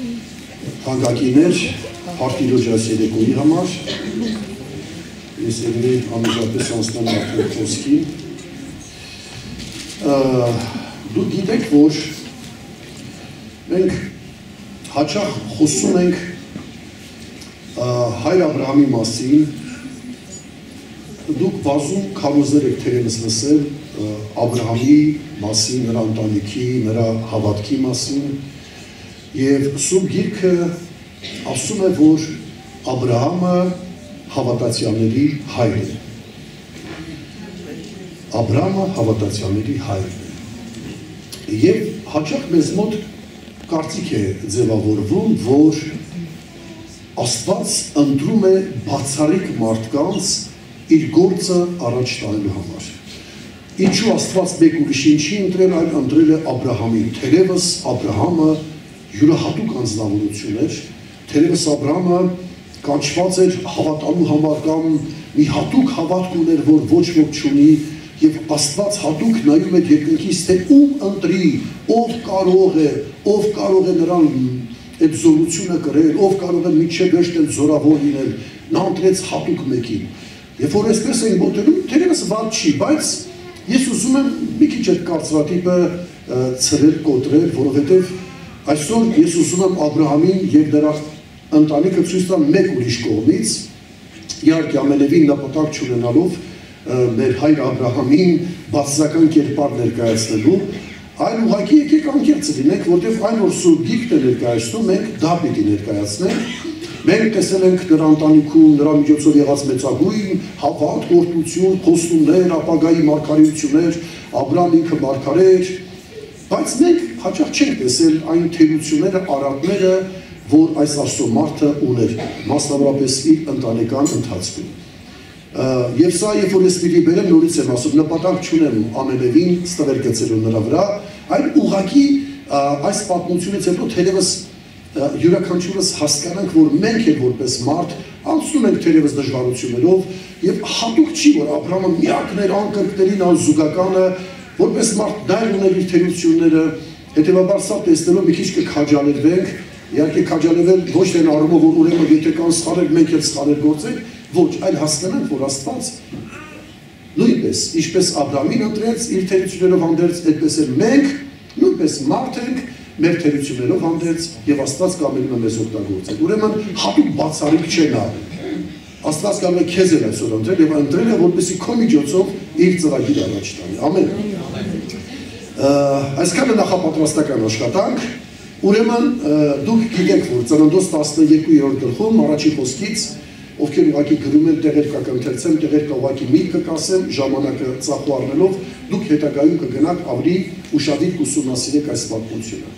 Թանկագիրներ, Հարտիրոջ այս երեկոյի համար, ես եղնի անմիջապես անցնեմ արդեն խոսքին։ Դուք գիտեք, որ մենք հաճախ խոսում ենք Հայր Աբրահամի մասին, դուք բազում քարոզներ եք թերևս լսել Աբրահամի մասին, նրա ընտանիքի, նրա հավատքի մասին, և Սուրբ Գիրքը ասում է, որ Աբրահամը հավատացյալների հայրն է։ Աբրահամը հավատացյալների հայրն է։ Եվ հաճախ մեզ մոտ կարծիք է ձևավորվում, որ Աստված ընտրում է բացառիկ մարդկանց իր գործը առաջ տալու համար։ Ինչու Աստված մեկ ուրիշին չի ընտրել, այլ ընտրել է Աբրահամին։ Թերևս Աբրահամը յուրահատուկ անձնավորություն էր, թերևս Աբրահամը կանչված էր հավատալու համար կամ մի հատուկ հավատք ուներ, որ ոչ ոք չունի, և Աստված հատուկ նայում է երկնքից, թե ում ընտրի, ով կարող է նրան այդ զորությունը կրել, ով կարող է միջև վերջնել զորավոր լինել, նա ընտրեց հատուկ մեկին։ Երբ որ այսպես ենք մոտենում, թերևս վատ չի, բայց ես ուզում եմ մի քիչ այդ կարծրատիպը ցրել, կոտրել, որովհետև այսօր ես ուզում եմ Աբրահամին և նրա ընտանիքը ցույց տալ մեկ ուրիշ կողմից, իհարկե ամենևին նպատակ չունենալով մեր հայր Աբրահամին բացասական կերպար ներկայացնելու, այլ ուղղակի եկեք անկեղծ լինենք, որտեղ այն որ Սուրբ Գիրքն է ներկայացնում, մենք դա պիտի ներկայացնենք։ Մենք տեսել ենք նրա ընտանիքում, նրա միջոցով եղած մեծագույն հավատ, գործունեություն, խոստումներ, ապագայի մարգարեություններ, Աբրահամ ինքը մարգարե էր, բայց մենք հաճախ չենք տեսել այն թերությունները, արատները, որ այս Աստծո մարդը ուներ, մասնավորապես իր ընտանեկան ընթացքում։ Եվ սա, երբ որ ես պիտի բերեմ, նորից եմ ասում, նպատակ չունեմ ամենևին ստվեր գցելու նրա վրա, այլ ուղղակի այս պատմությունից հետո թերևս յուրաքանչյուրս հասկանանք, որ մենք էլ որպես մարդ անցնում ենք թերևս դժվարություններով, և հատուկ չի, որ Աբրահամը միակն էր անկրկներին անզուգականը, որպես մարդ դայր ուներ իր թերությունները, հետևաբար սա տեսնելով մի քիչ կքաջալերվենք, իհարկե քաջալերվել ոչ թե առումով, որ ուրեմն եթե կան սխալներ, մենք էլ սխալներ գործենք, ոչ, այլ հասկանանք, որ Աստված նույնպես, ինչպես Աբրահամին ընտրեց իր թերություններով հանդերձ, այդպես էլ մենք նույնպես մարդ ենք, մեր թերություններով հանդերձ, և Աստված կամենում է մեզ օգտագործել։ Ուրեմն հատուկ բացառիկ չէ նա։ Աստված կարող է քեզ էլ այսօր ընտրել և ընտրել է, որպեսզի քո միջոցով իր ծրագիր առաջ տանի։ Ամեն։ Այսքանը նախապատրաստական աշխատանք, ուրեմն դուք գիտեք, որ Ծննդոց 12-րդ գլխում առաջի խոսքից, ովքեր ուղղակի գրում են, տեղեր կընթերցեմ, տեղեր ուղղակի միտքը կասեմ, ժամանակը ծախու առնելով, դուք հետագայում կգնաք ավելի ուշադիր կուսումնասիրեք այս պատմությունը։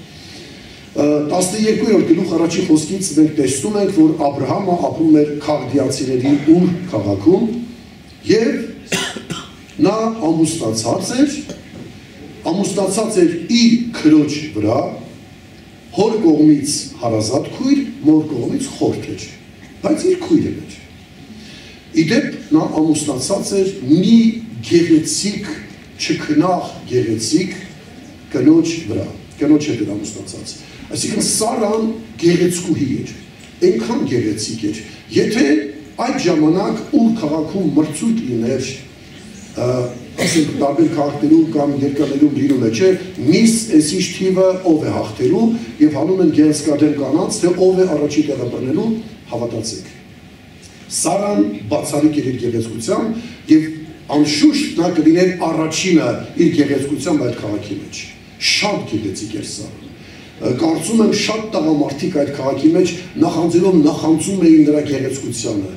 12-րդ գլուխ առաջի խոսքից մենք տեսնում ենք, որ Աբրահամը ապրում էր Քաղդիացիների Ուր քաղաքում և նա ամուսնացած էր իր քրոջ վրա, հոր կողմից հարազատ քույր, մոր կողմից խորթ էր, բայց իր քույրը էր։ Իդեպ նա ամուսնացած էր մի գեղեցիկ, չքնաղ գեղեցիկ կնոջ վրա, կնոջ հետ էր ամուսնացած։ Այսինքն Սարան գեղեցկուհի էր, այնքան գեղեցիկ էր, եթե այդ ժամանակ Ուր քաղաքում մրցույթ լիներ, ասենք տարբեր քաղաքներում կամ երկրներում լինում է, չէ, միս էսիշ թիվը ով է հաղթելու և հանում են գեղեցկադեմ կանանց, թե ով է առաջի տեղը բռնելու, հավատացեք։ Սարան բացառիկ էր իր գեղեցկությամբ և անշուշտ նա կլիներ առաջինը իր գեղեցկությամբ այդ քաղաքի մեջ։ Շատ գեղեցիկ էր Սարան։ Կարծում եմ շատ տղամարդիկ այդ քաղաքի մեջ նախանձում էին նրա գեղեցկությանը։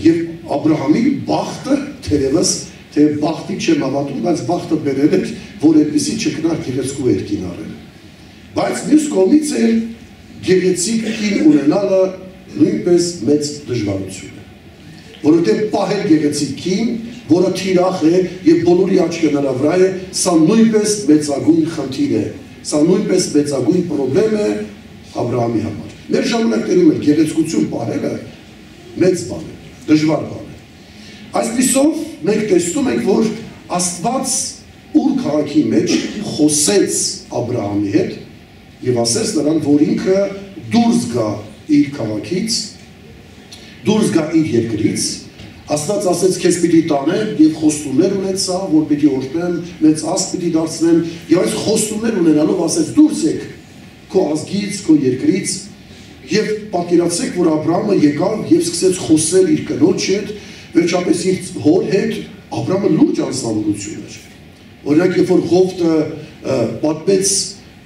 Եվ Աբրահամի բախտը թերևս, թե բախտի չեմ հավատում, բայց բախտը բերել էր, որ այդպիսի չքնաղ գեղեցկու էր կին առել։ Բայց մյուս կողմից էր գեղեցիկ կին ունենալը նույնպես մեծ դժվարություն է։ Որովհետև պահել գեղեցիկ կին, որը թիրախ է և բոլորի աչքը նրա վրա է, սա նույնպես մեծագույն խնդիր է, սա նույնպես մեծագույն պրոբլեմ է Աբրահամի համար։ Մեր ժամանակներում էլ գեղեցկություն պահելը մեծ բան է, դժվար բան է։ Այսպիսով մենք տեսնում ենք, որ Աստված Ուր քաղաքի մեջ խոսեց Աբրահամի հետ և ասեց նրան, որ ինքը դուրս գա իր քաղաքից, դուրս գա իր երկրից, Աստված ասեց քեզ պիտի տանեմ եւ խոստումներ ունեցա, որ պիտի օրհնեմ, մեծ ազգ պիտի դարձնեմ, եւ այս խոստումներ ունենալով ասեց դուրս եք քո ազգից, քո երկրից, եւ պատկերացրեք, որ Աբրահամը եկավ եւ սկսեց խոսել իր կնոջ հետ, վերջապես իր հոր հետ, Աբրահամը լուրջ անձնավորություն էր։ Օրինակ, երբ որ Ղովտը պատմեց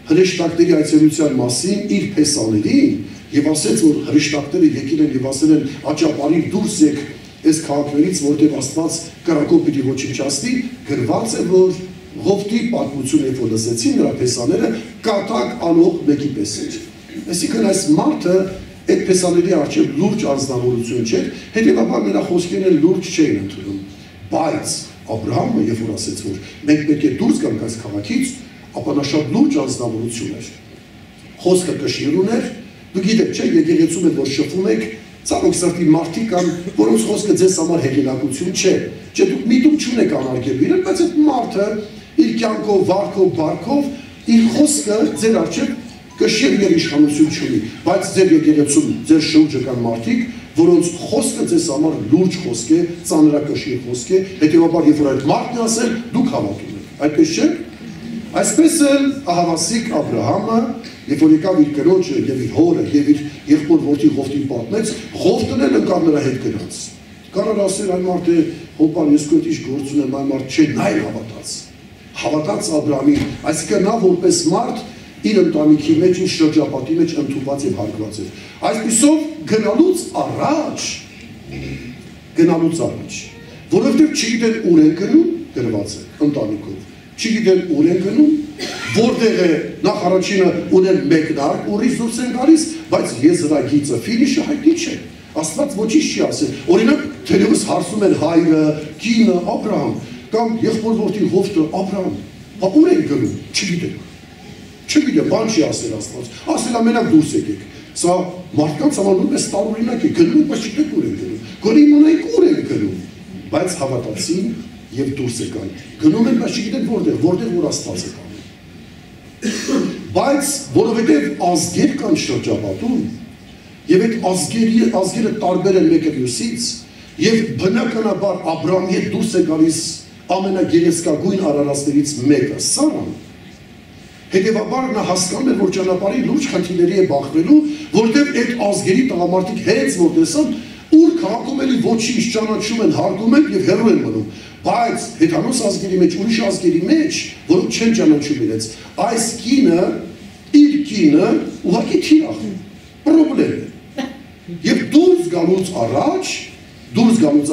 հրեշտակների այցելության մասին իր փեսաներին եւ ասեց, որ հրեշտակները եկել են եւ ասել են աճապարի դուրս եք այս քաղաքներից, որտեղ Աստված կրակով պիտի ոչնչացնի, գրված է, որ Ղովտի պատմությունը, երբ որ լսեցին նրա փեսաները, կատակ անող մեկի պես էր։ Այսինքն այս մարդը այդ փեսաների առջև լուրջ անձնավորություն չէր, հետևաբար նրա խոսքերն լուրջ չէին ընդունում։ Բայց Աբրահամը, երբ որ ասեց, որ մենք պետք է դուրս գանք այս քաղաքից, ապա նա շատ լուրջ անձնավորություն էր։ Խոսքը կշիռ ուներ, դու գիտեք, չէ, եկեղեցում եք, որ շփվում եք, ցավոք սրտի մարդիկ կան, որոնց խոսքը ձեզ համար հեղինակություն չէ։ Չէ, դուք միտում չունեք անարգելու իրեն, բայց այդ մարդը իր կյանքով, վարքով, բարքով իր խոսքը ձեր առջև կշիռ եւ իշխանություն չունի, բայց ձեր եկեղեցում, ձեր շուրջը կան մարդիկ, որոնց խոսքը ձեզ համար լուրջ խոսք է, ծանրակշիռ խոսք է, հետեւաբար երբ որ այդ մարդն է ասել, դուք հավատում եք։ Այդպես չէ՞։ Այսպես էլ ահավասիկ Աբրահամը, երբ որ եկավ իր կնոջը եւ իր հորը եւ իր եղբոր որդի Ղովտին պատմեց, Ղովտն էլ ընկավ նրա հետ գնաց։ Կարող ասել այն մարդը, հոպան ես քո ինչ գործ ունեմ, այն մարդ չէ, նա էլ հավատաց։ Հավատաց Աբրահամին, այսինքն նա որպես մարդ իր ընտանիքի մեջ, իր շրջապատի մեջ ընդունված եւ հարգված էր։ Այսպիսով գնալուց առաջ, որովհետեւ չգիտեն ուր են գնում, գրված է ընտանիքով։ Չգիտեն ուր են գնում, որտեղ է նախ առաջինը ունեն մեկնարկ, ուրիշ դուրս են գալիս, բայց եզրագիծը ֆինիշը հայտնի չէ։ Աստված ոչինչ չի ասել։ Օրինակ, թերևս հարցում են հայրը, կինը, Աբրահամ, կամ եղբոր որդին Ղովտը, Աբրահամ, բա ուր են գնում, չգիտեն։ Չգիտեմ, բան չի ասել Աստված, ասել ամենակ դուրս եկեք։ Սա մարդկանց համար նույնպես տարօրինակ է, գնում, բայց չգիտեք ուր են գնում։ Գոնե իմանայիք ուր են գնում, բայց հավատացին եւ դուրս եկան։ Գնում են, բայց չգիտեն որտեղ որ Աստված է կանում։ Բայց որովհետեւ ազգեր կան շրջապատում, եւ այդ ազգերը տարբեր են մեկը մյուսից, եւ բնականաբար Աբրահամի հետ դուրս է գալիս ամենագերեզկագույն արարածներից մեկը, Սարան։ Հետևաբար նա հասկանում էր, որ ճանապարհի լուրջ խնդիրների է բախվելու, որտեղ այդ ազգերի տղամարդիկ հենց որ տեսան, ուր քաղաքում էլի ոչինչ ճանաչում են, հարգում են եւ հեռու են մնում։ Բայց հեթանոս ազգերի մեջ, ուրիշ ազգերի մեջ, որոնք չեն ճանաչում իրենց, այս կինը, իր կինը ուղղակի թիրախ է, պրոբլեմ է։ Եվ դուրս գալուց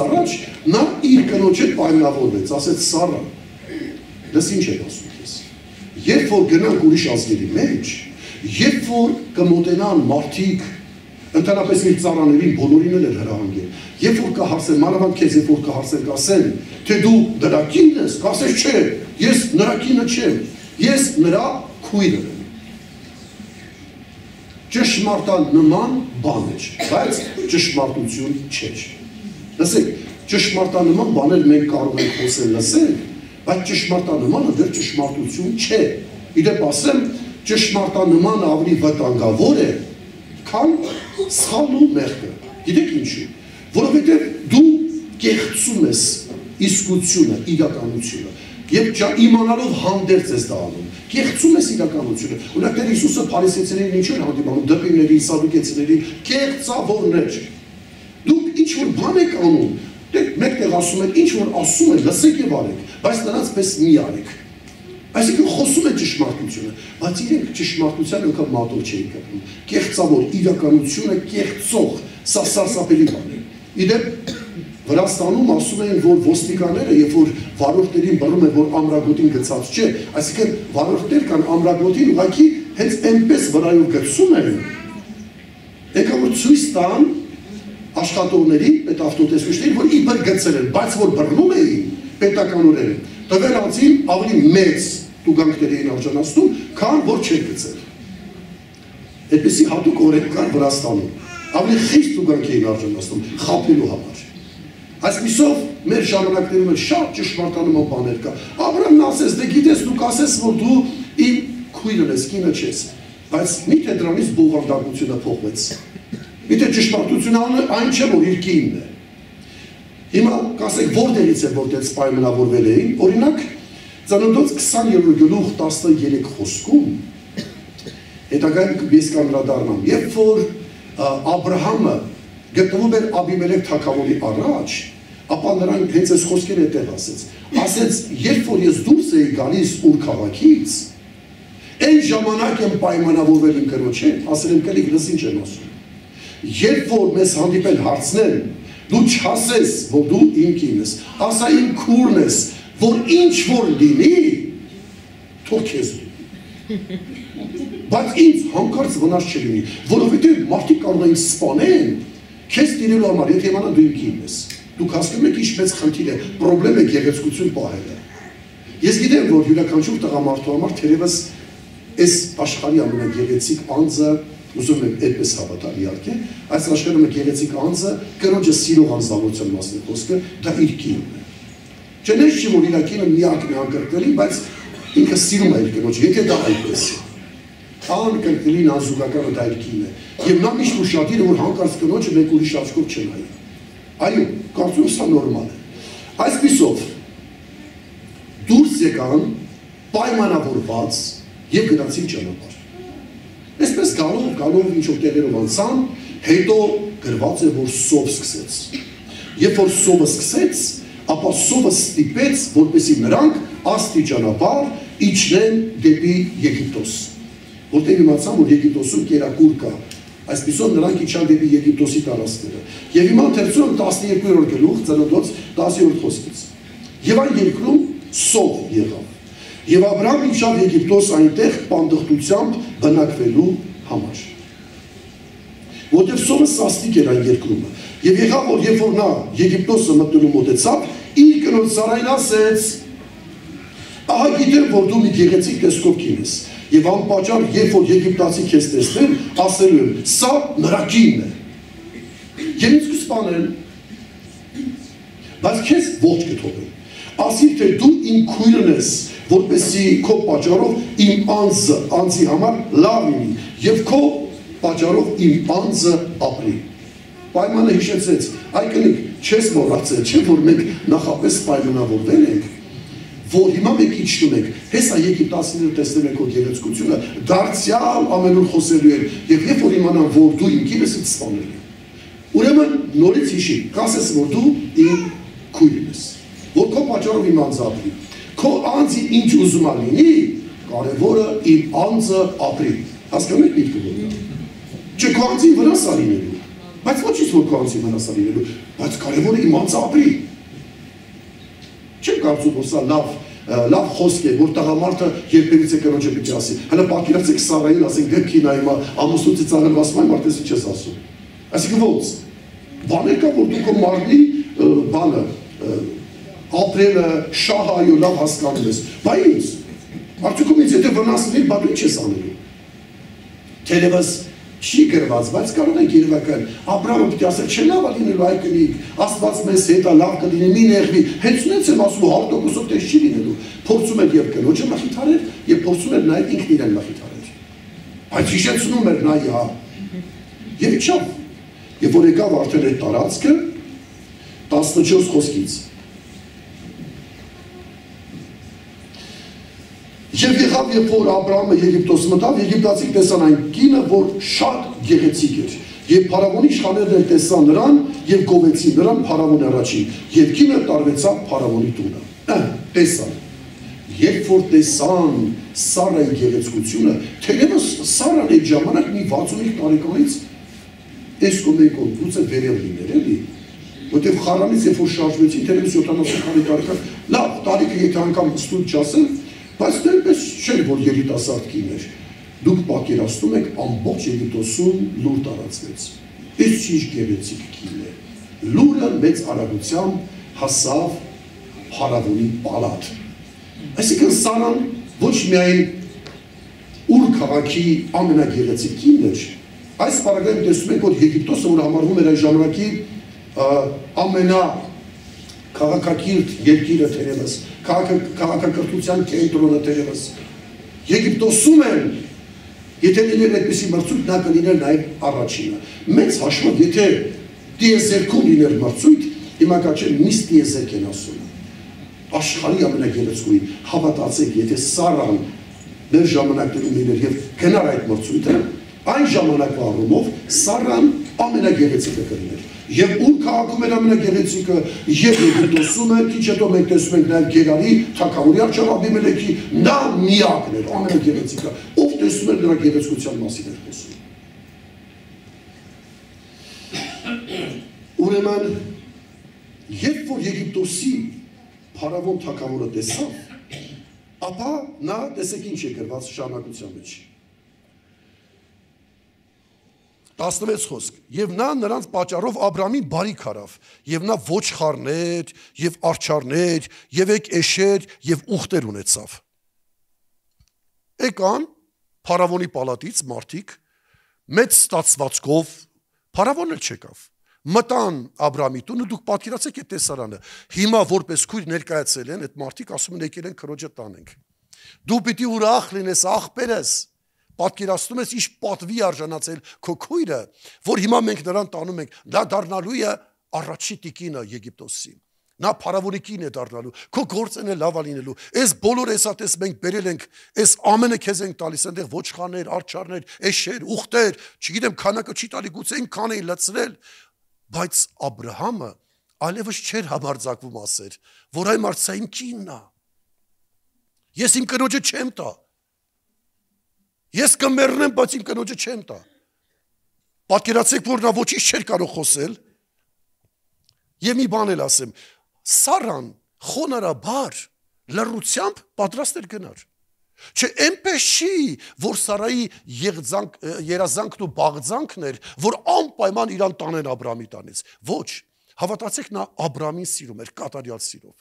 առաջ, նա իր կնոջ հետ պայմանավորվեց, ասեց Սառա, դες ինչ եք ասում ես։ Երբ որ գնանք ուրիշ ազգերի մեջ, երբ որ կմոտենան մարդիկ, ընդհանրապես իր ծառաներին բոլորին էլ հրահանգել, երբ որ կհարցեն, մանավանդ քեզ, երբ որ կհարցեն, կասեն, թե դու նրա կինն ես, կասես չէ, ես նրա կինը չեմ, ես նրա քույրը եմ։ Ճշմարտանման բան էր, բայց ճշմարտություն չէր։ Լսեք, ճշմարտանման բաներ մենք կարող ենք խոսել, լսել, բայց ճշմարտանմանը դեռ ճշմարտություն չէ։ Իդեպ ասեմ, ճշմարտանմանը ավելի վտանգավոր է, քան սխալն ու մեղքը։ Գիտեք ինչու։ Որովհետև դու կեղծում ես իսկությունը, իրականությունը, եւ իմանալով հանդերձ ես դա անում։ Կեղծում ես իրականությունը։ Օրինակ Տեր Հիսուսը փարիսեցիներին ինչ էր հանդիպանում, դպիրների, սադուկեցիների, կեղծավորներ։ Դուք ինչ որ բան եք անում, մեկտեղ ասում են, ինչ որ ասում են, լսեք եւ արեք, բայց նրանց պես մի արեք։ Այսինքն խոսում են ճշմարտությունը, բայց իրենք ճշմարտության անգամ մատով չէին կապում։ Կեղծավոր իրականությունը կեղծող, սա սարսափելի բան է։ Իդեպ Վրաստանում ասում են, որ ոստիկանները, երբ որ վարորդներին բռնում են, որ ամրագոտին գցած չէ, այսինքն վարորդներ կան ամրագոտին ուղղակի հենց այնպես վրայով գցում են, եկա որ ցույց տան աշխատողներին, այդ ավտոտեսուչներին, որ իբր գցել են, բայց որ բռնում էին պետականորեն, տվել անձին ավելի մեծ տուգանքների էին արժանացնում, քան որ չեն գցել։ Այդպիսի հատուկ օրենք կար Վրաստանում, ավելի խիստ տուգանք էին արժանացնում, խաբելու համար։ Այսպիսով մեր ժամանակներում էլ շատ ճշմարտանման բաներ կա։ Աբրահամն ասեց, դե գիտես, դու կասես, որ դու իմ քույրն ես, կինը չես։ Բայց միթե դրանից բովանդակությունը փոխվեց։ Միթե ճշմարտությունը այն չէ, որ իր կինն է։ Հիմա կասեք որտեղից է որտեղ պայմանավորվել էին, օրինակ Ծննդոց 20 գլուխ 13 խոսքում հետագայում ես կանդրադառնամ, երբ որ Աբրահամը գտնվում էր Աբիմելեք թագավորի առաջ, ապա նրան հենց այս խոսքերը այդտեղ ասեց, երբ որ ես դուրս էի գալիս Ուր քաղաքից, այն ժամանակ եմ պայմանավորվել իմ կնոջ հետ, ասել եմ կլիկ լսին չեմ ասում։ Երբ որ մեզ հանդիպել հարցնեն, դու չասես, որ դու իմ կինն ես, ասա իմ քուրն ես, որ ինչ որ լինի, թող քեզ լինի։ Բայց ինձ հանկարծ վնաս չլինի, որովհետև մարդիկ կարող են սպանեն, քեզ տիրելու համար, եթե իմանա դու իմ կինն ես։ Դուք հասկանում եք ինչ մեծ խնդիր է, պրոբլեմ է գեղեցկություն պահելը։ Ես գիտեմ, որ յուրաքանչյուր տղամարդու համար թերևս այս աշխարհի ամենագեղեցիկ անձը, ուզում եմ այդպես հավատալ իհարկե, այս աշխարհի գեղեցիկ անձը կնոջը սիրող անձնավորության մասն է խոսքը, դա իր կինն է։ Չնես չի որ իր կինը միակն է անկրկնելի, բայց ինքը սիրում է իր կնոջը, եթե դա այդպես է։ Անկրկնելին անզուգականը դա իր կինն է։ Եվ նա միշտ ուշադիր է, որ հանկարծ կնոջը մեկ ուրիշ աչքով չնայի։ Այո, կարծում սա նորմալ է։ Այսպիսով դուրս եկան պայմանավորված եւ գնացին ճանապարհ։ Այսպես գալով ինչ-որ տեղերով անցան, հետո գրված է, որ սով սկսեց։ Երբ որ սովը սկսեց, ապա սովը ստիպեց, որպեսզի նրանք աստիճանաբար իջնեն դեպի Եգիպտոս։ Որտեղ իմացան, որ Եգիպտոսում կերակուր կա, այսպիսով նրանք իջան դեպի Եգիպտոսի տարածքները։ Եվ հիմա ընթերցում 12-րդ գլուխ, Ծննդոց 10-րդ խոսքից։ Եվ այն երկրում սով եղավ։ Եվ Աբրահամ իջավ Եգիպտոս այնտեղ պանդխտությամբ բնակվելու համար։ Որտեղ սովը սաստիկ էր այն երկրումը։ Եվ եղավ, որ երբ որ նա Եգիպտոսը մտնելու մոտեցավ, իր կնոջ Սարային ասեց. ահա գիտեմ, որ դու մի գեղեցիկ տեսքով կին ես։ Եվ անպատճառ, երբ որ եգիպտացի քեզ տեսնեն, ասելու են, սա նրա կինն է։ Եվ ինձ կսպանեն, բայց քեզ ոչ կթողեն։ Ասիր, թե դու իմ քույրն ես, որպեսզի քո պատճառով իմ անձի համար լավ լինի, եւ քո պատճառով իմ անձը ապրի։ Պայմանը հիշեցեց, այ կնիկ, չես մոռացել, չէ՞ որ մենք նախապես պայմանավորվել ենք, որ հիմա մենք իջնում ենք, հեսա եգիպտացիները տեսնում են քո գեղեցկությունը, դարձյալ ամենուր խոսելու են, եւ երբ որ իմանան, որ դու իմ կինս ես, սպանել են։ Ուրեմն նորից հիշի, կասես, որ դու իմ քույրն ես, որ քո պատճառով իմ անձը ապրի։ Քո անձի ինչ ուզում լինի, կարևորը իմ անձը ապրի։ Հասկանում եք միտքը որն է։ Չէ, քո անձի վնաս է լինելու, բայց ոչինչ որ քո անձի վնաս է լինելու, բայց կարևորը իմ անձը ապրի։ Չեմ կարծում, որ սա լավ խոսք է, որ տղամարդը երբևից է կնոջը պիտի ասի։ Հələ պատկերացրեք Սարային, ասենք դեպքին այ ամուսնուց ծաղրել ասում այն մարդես ինչ ես ասում։ Այսինքն ո՞նց։ Բաներ կա, որ դու քո մարմնի բանը ապրելը, շահայո լավ հասկանում ես, բայ ինձ, արդյոքում ինձ եթե վնասնի, բա դու ինչ ես անելու։ Թերևս չի գրված, բայց կարող եք երևակայել, Աբրահամը պիտի ասել, չէ լավ է լինելու այ կնիկ, Աստված մեզ հետ է, լավ կլինի, մի նեղվի, հենց նենց եմ ասում, 100%-ով տես չի լինելու, փորձում էր եւ կնոջը մխիթարել եւ փորձում էր նաեւ ինքն իրեն մխիթարել։ Բայց հիշեցնում էր նա իհա։ Եվ իջավ, եւ որ եկավ արդեն այդ տարածքը 14 խոսքից։ Եվ եղավ, երբ որ Աբրահամը Եգիպտոս մտավ, եգիպտացիք տեսան այն կինը, որ շատ գեղեցիկ էր։ Եվ փարավոնի իշխաններն տեսան նրան եւ գովեցին նրան փարավոնի առաջին։ Եվ կինը տարվեցավ փարավոնի տունը։ Տեսան։ Երբ որ տեսան Սարայի գեղեցկությունը, թերևս Սարան այդ ժամանակ մի 65 տարեկանից այս կոմեկով գուցե վերել լիներ, էլի։ Որտեւ Խարանից երբ որ շարժվեցին, թերևս 70 տարեկան, լավ, տարիքը եթե անգամ ստույգ չասեն, բայց դեպս չէր, որ երիտասարդ կին էր։ Դուք պատկերացնում եք ամբողջ Եգիպտոսում լուր տարածվեց։ Այս ինչ գեղեցիկ կին է։ Լուրը մեծ արագությամբ հասավ փարավոնի պալատ։ Այսինքն Սարան ոչ միայն Ուր քաղաքի ամենագեղեցիկ կինն էր, այս պարագայում տեսնում եք, որ Եգիպտոսը, որ համարվում էր այն ժամանակի ամենաքաղաքակիրթ երկիրը թերևս, քաղաքակրթության կենտրոնը թերևս, Եգիպտոսում են Եթե լիներ այդպիսի մրցույթ, նա կլիներ նաև առաջինը։ Մեծ հաշվով, եթե տիեզերքում լիներ մրցույթ, հիմա կաչեն միս տիեզերք են ասում։ Աշխարհի ամենագեղեցկուին, հավատացեք, եթե Սարան մեր ժամանակներում լիներ եւ գնար այդ մրցույթը, այն ժամանակվա առումով Սարան ամենագեղեցիկը կլիներ։ Եվ ուր քաղաքում էր ամենագեղեցիկը, եւ Եգիպտոսում է, քիչ հետո մենք տեսնում ենք նաև Գերարի, թագավորի արչավ Աբիմելեքի, նա միակն էր, ամենագեղեցիկը, ով տեսնում էր նրա գեղեցկության մասին էր խոսում։ Ուրեմն, երբ որ Եգիպտոսի փարավոն թագավորը տեսավ, ապա նա տեսեք ինչ է գրված շարունակության մեջ։ 16 խոսք, և նա նրանց պատճառով Աբրամին բարիք արավ, և նա ոչխարներ, և արջառներ, և էշեր, և ուղտեր ունեցավ։ Եկան փարավոնի պալատից մարդիկ, մեծ ստացվածքով, փարավոնն էլ չեկավ, մտան Աբրամի տունը, դուք պատկերացեք այդ տեսարանը, հիմա որպես քույր ներկայացել են, այդ մարդիկ ասում են եկել են քրոջը տանենք։ Դու պիտի ուրախ լինես, աղբերես, պատկերացնում ես ինչ պատվի արժանացել քո քույրը, որ հիմա մենք նրան տանում ենք, նա դառնալու է առաջի տիկինը Եգիպտոսի, նա փարավոնի կինն է դառնալու, քո գործն է լավ լինելու, այս բոլոր էսատես մենք բերել ենք, այս ամենը քեզ ենք տալիս, այնտեղ ոչխարներ, արջառներ, էշեր, ուղտեր, չգիտեմ քանակը չի տալի, գուցե այնքան էին լցրել, բայց Աբրահամը այլևս չէր համարձակվում ասել, որ այն մարդը իմ կինն է, ես իմ կնոջը չեմ տա, ես կմեռնեմ, բայց իմ կնոջը չեմ տա։ Պատկերացեք, որ նա ոչինչ չէր կարող խոսել, եւ մի բան էլ ասեմ, Սարան խոնարհաբար լռությամբ պատրաստ էր գնար։ Չէ, այնպես չի, որ Սարայի երազանքն ու բաղձանքն էր, որ անպայման իրան տանեն Աբրամի տանից։ Ոչ, հավատացեք, նա Աբրամին սիրում էր կատարյալ սիրով։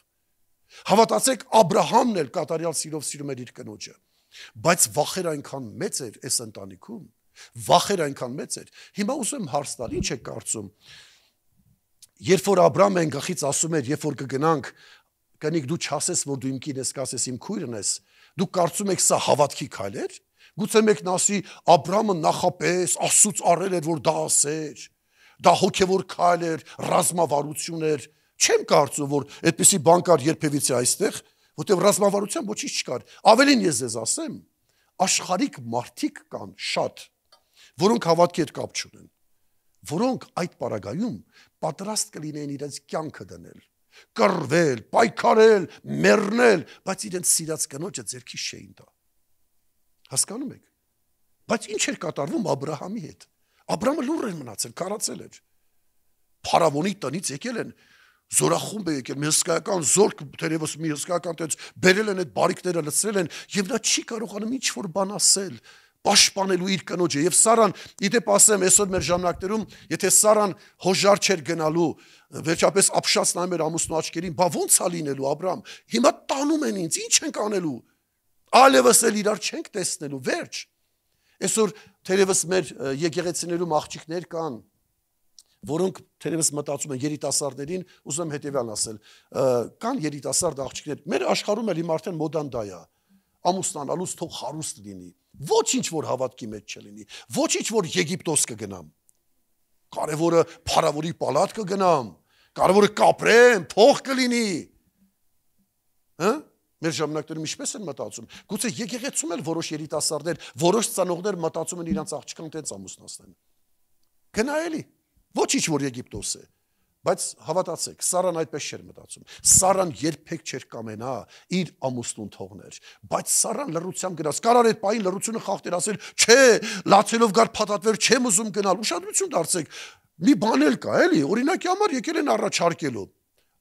Հավատացեք, Աբրահամն էլ կատարյալ սիրով սիրում էր իր կնոջը։ Բայց վախեր այնքան մեծ էր այս ընտանիքում, վախեր այնքան մեծ էր։ Հիմա ուզում եմ հարց տալ, ինչ է կարծում։ Երբ որ Աբրահամը այն գլխից ասում էր, երբ որ կգնանք, կնիկ դու չասես, որ դու իմ կին ես, կասես իմ քույրն ես, դու կարծում եք սա հավատքի քայլ էր։ Գուցե մեկն ասի, Աբրահամը նախապես Աստծուց առել էր, որ դա ասեր, դա հոգևոր քայլ էր, ռազմավարություն էր։ Չեմ կարծում, որ այդպիսի բան կար երբևիցե այստեղ, որտեղ ռազմավարության ոչինչ չկար։ Ավելին ես ձեզ ասեմ, աշխարհիկ մարդիկ կան շատ, որոնք հավատքի հետ կապ չունեն, որոնք այդ պարագայում պատրաստ կլինեն իրենց կյանքը դնել, կռվել, պայքարել, մեռնել, բայց իրենց սիրած կնոջը ձեռքից չէին տա։ Հասկանում եք։ Բայց ինչ էր կատարվում Աբրահամի հետ։ Աբրահամը լուռ էր մնացել, քարացել էր։ Փարավոնի տնից եկել են, զորախումբ է եկել, մի հսկայական զորք, թերևս մի հսկայական տենց բերել են այդ բարիկները, լցրել են, եւ նա չի կարողանում ինչ-որ բան ասել, պաշտպանելու իր կնոջը։ Եվ Սարան, իդեպ ասեմ, այսօր մեր ժամանակներում, եթե Սարան հոժար չէր գնալու, վերջապես ապշած նայում էր ամուսնու աչքերին, բա ո՞նց է լինելու Աբրահամ։ Հիմա տանում են ինձ, ինչ ենք անելու։ Այլևս էլ իրար չենք տեսնելու, վերջ։ Այսօր թերևս մեր եկեղեցիներում աղջիկներ կան, որոնք թերևս մտածում են երիտասարդներին, ուզում եմ հետևյալն ասել, կան երիտասարդ աղջիկներ, մեր աշխարհում էլ հիմա արդեն մոդան դա է, ամուսնանալուց թող հարուստ լինի, ոչինչ որ հավատքի մեջ չլինի, ոչինչ որ Եգիպտոս կգնամ, կարևորը փարավոնի պալատ կգնամ, կարևորը կապրեմ, փող կլինի, մեր ժամանակներում ինչպես են մտածում, գուցե եկեղեցում էլ որոշ երիտասարդներ, որոշ ծանոթներ մտածում են իրանց աղջկան տենց ամուսնացնեն, գնա էլի, ոչինչ որ Եգիպտոս է, բայց հավատացեք, Սարան այդպես չէր մտածում, Սարան երբեք չէր կամենա իր ամուսնուն թողներ, բայց Սարան լռությամբ գնաց, կարար այդ պահին լռությունը խախտեր ասել, չէ, լացելով գար փաթաթվեր, չեմ ուզում գնալ, ուշադրություն դարձեք, մի բան էլ կա, էլի, օրինակի համար եկել են առաջարկելու,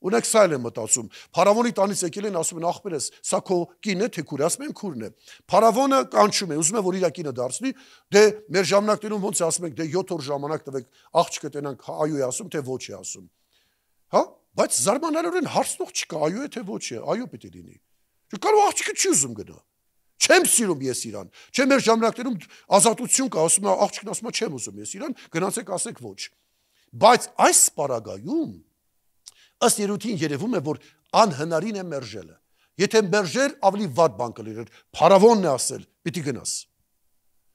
ունեք սա էլ եմ մտածում, փարավոնի տանից եկել են, ասում են ախպերես, սա քո կինն է, թե քուրը, ասում են քուրն է, փարավոնը կանչում է, ուզում է, որ իր կինը դարձնի, դե մեր ժամանակներում ոնց է ասում ենք, դե 7 օր ժամանակ տվեք, աղջիկը տենանք այո է ասում, թե ոչ է ասում, հա, բայց զարմանալիորեն հարցնող չկա, այո է, թե ոչ է, այո պիտի լինի, կարող աղջիկը չի ուզում գնա, չեմ սիրում ես իրան, չէ մեր ժամանակներում ազատություն կա, ասում է աղջիկն ասում է չեմ ուզում ես իրան, գնացեք ասեք ոչ, բայց այս պարագայում ըստ երևույթին երևում է, որ անհնարին է մերժելը։ Եթե մերժեր, ավելի վատ բան կլիներ, փարավոնն է ասել, պիտի գնաս։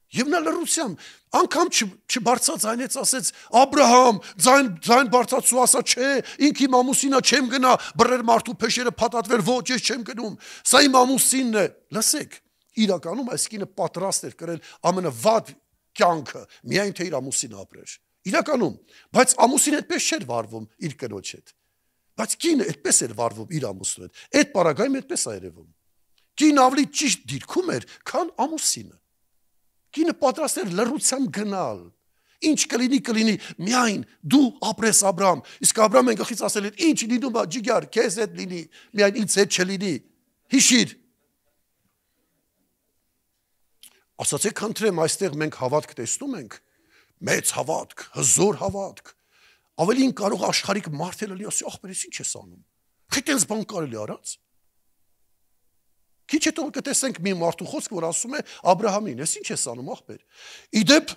Եվ նա լռությամբ անգամ չբարձրացնեց, ասեց Աբրահամ, ձայն բարձրացու ասա, չէ, ինքը իմ ամուսինա չեմ գնա, բռներ մարդու փեշերը փաթաթվեր, ոչ, ես չեմ գնում, սա իմ ամուսինն է։ Լսեք, իրականում այս կինը պատրաստ էր կրել ամենավատ կյանքը, միայն թե իր ամուսինը ապրեր։ Իրականում, բայց ամուսինը այդպես չէր վարվում իր կնոջ հետ։ Բայց կինը այդպես էր վարվում իր ամուսնու հետ։ Այդ պարագայում այդպես է երևում։ Կինը ավելի ճիշտ դիրքում էր, քան ամուսինը։ Կինը պատրաստ էր լռությամբ գնալ։ Ինչ կլինի, միայն դու ապրես Աբրահամ։ Իսկ Աբրահամը գլխից ասել էր, ինչ լինում է, ջիգար, քեզ հետ լինի, միայն ինձ հետ չլինի։ Հիշիր։ Ասացեք, խնդրեմ, այստեղ մենք հավատք տեսնում ենք, մեծ հավատք, հզոր հավատք։ Ավելին կարող աշխարհիկ մարդ էլ լինի, ասի, ախպերս ինչ ես անում։ Խիտենց բան կարելի արած։ Քիչ հետո կտեսենք մի մարդու խոսք, որ ասում է Աբրահամին, ես ինչ ես անում, ախպեր։ Իդեպ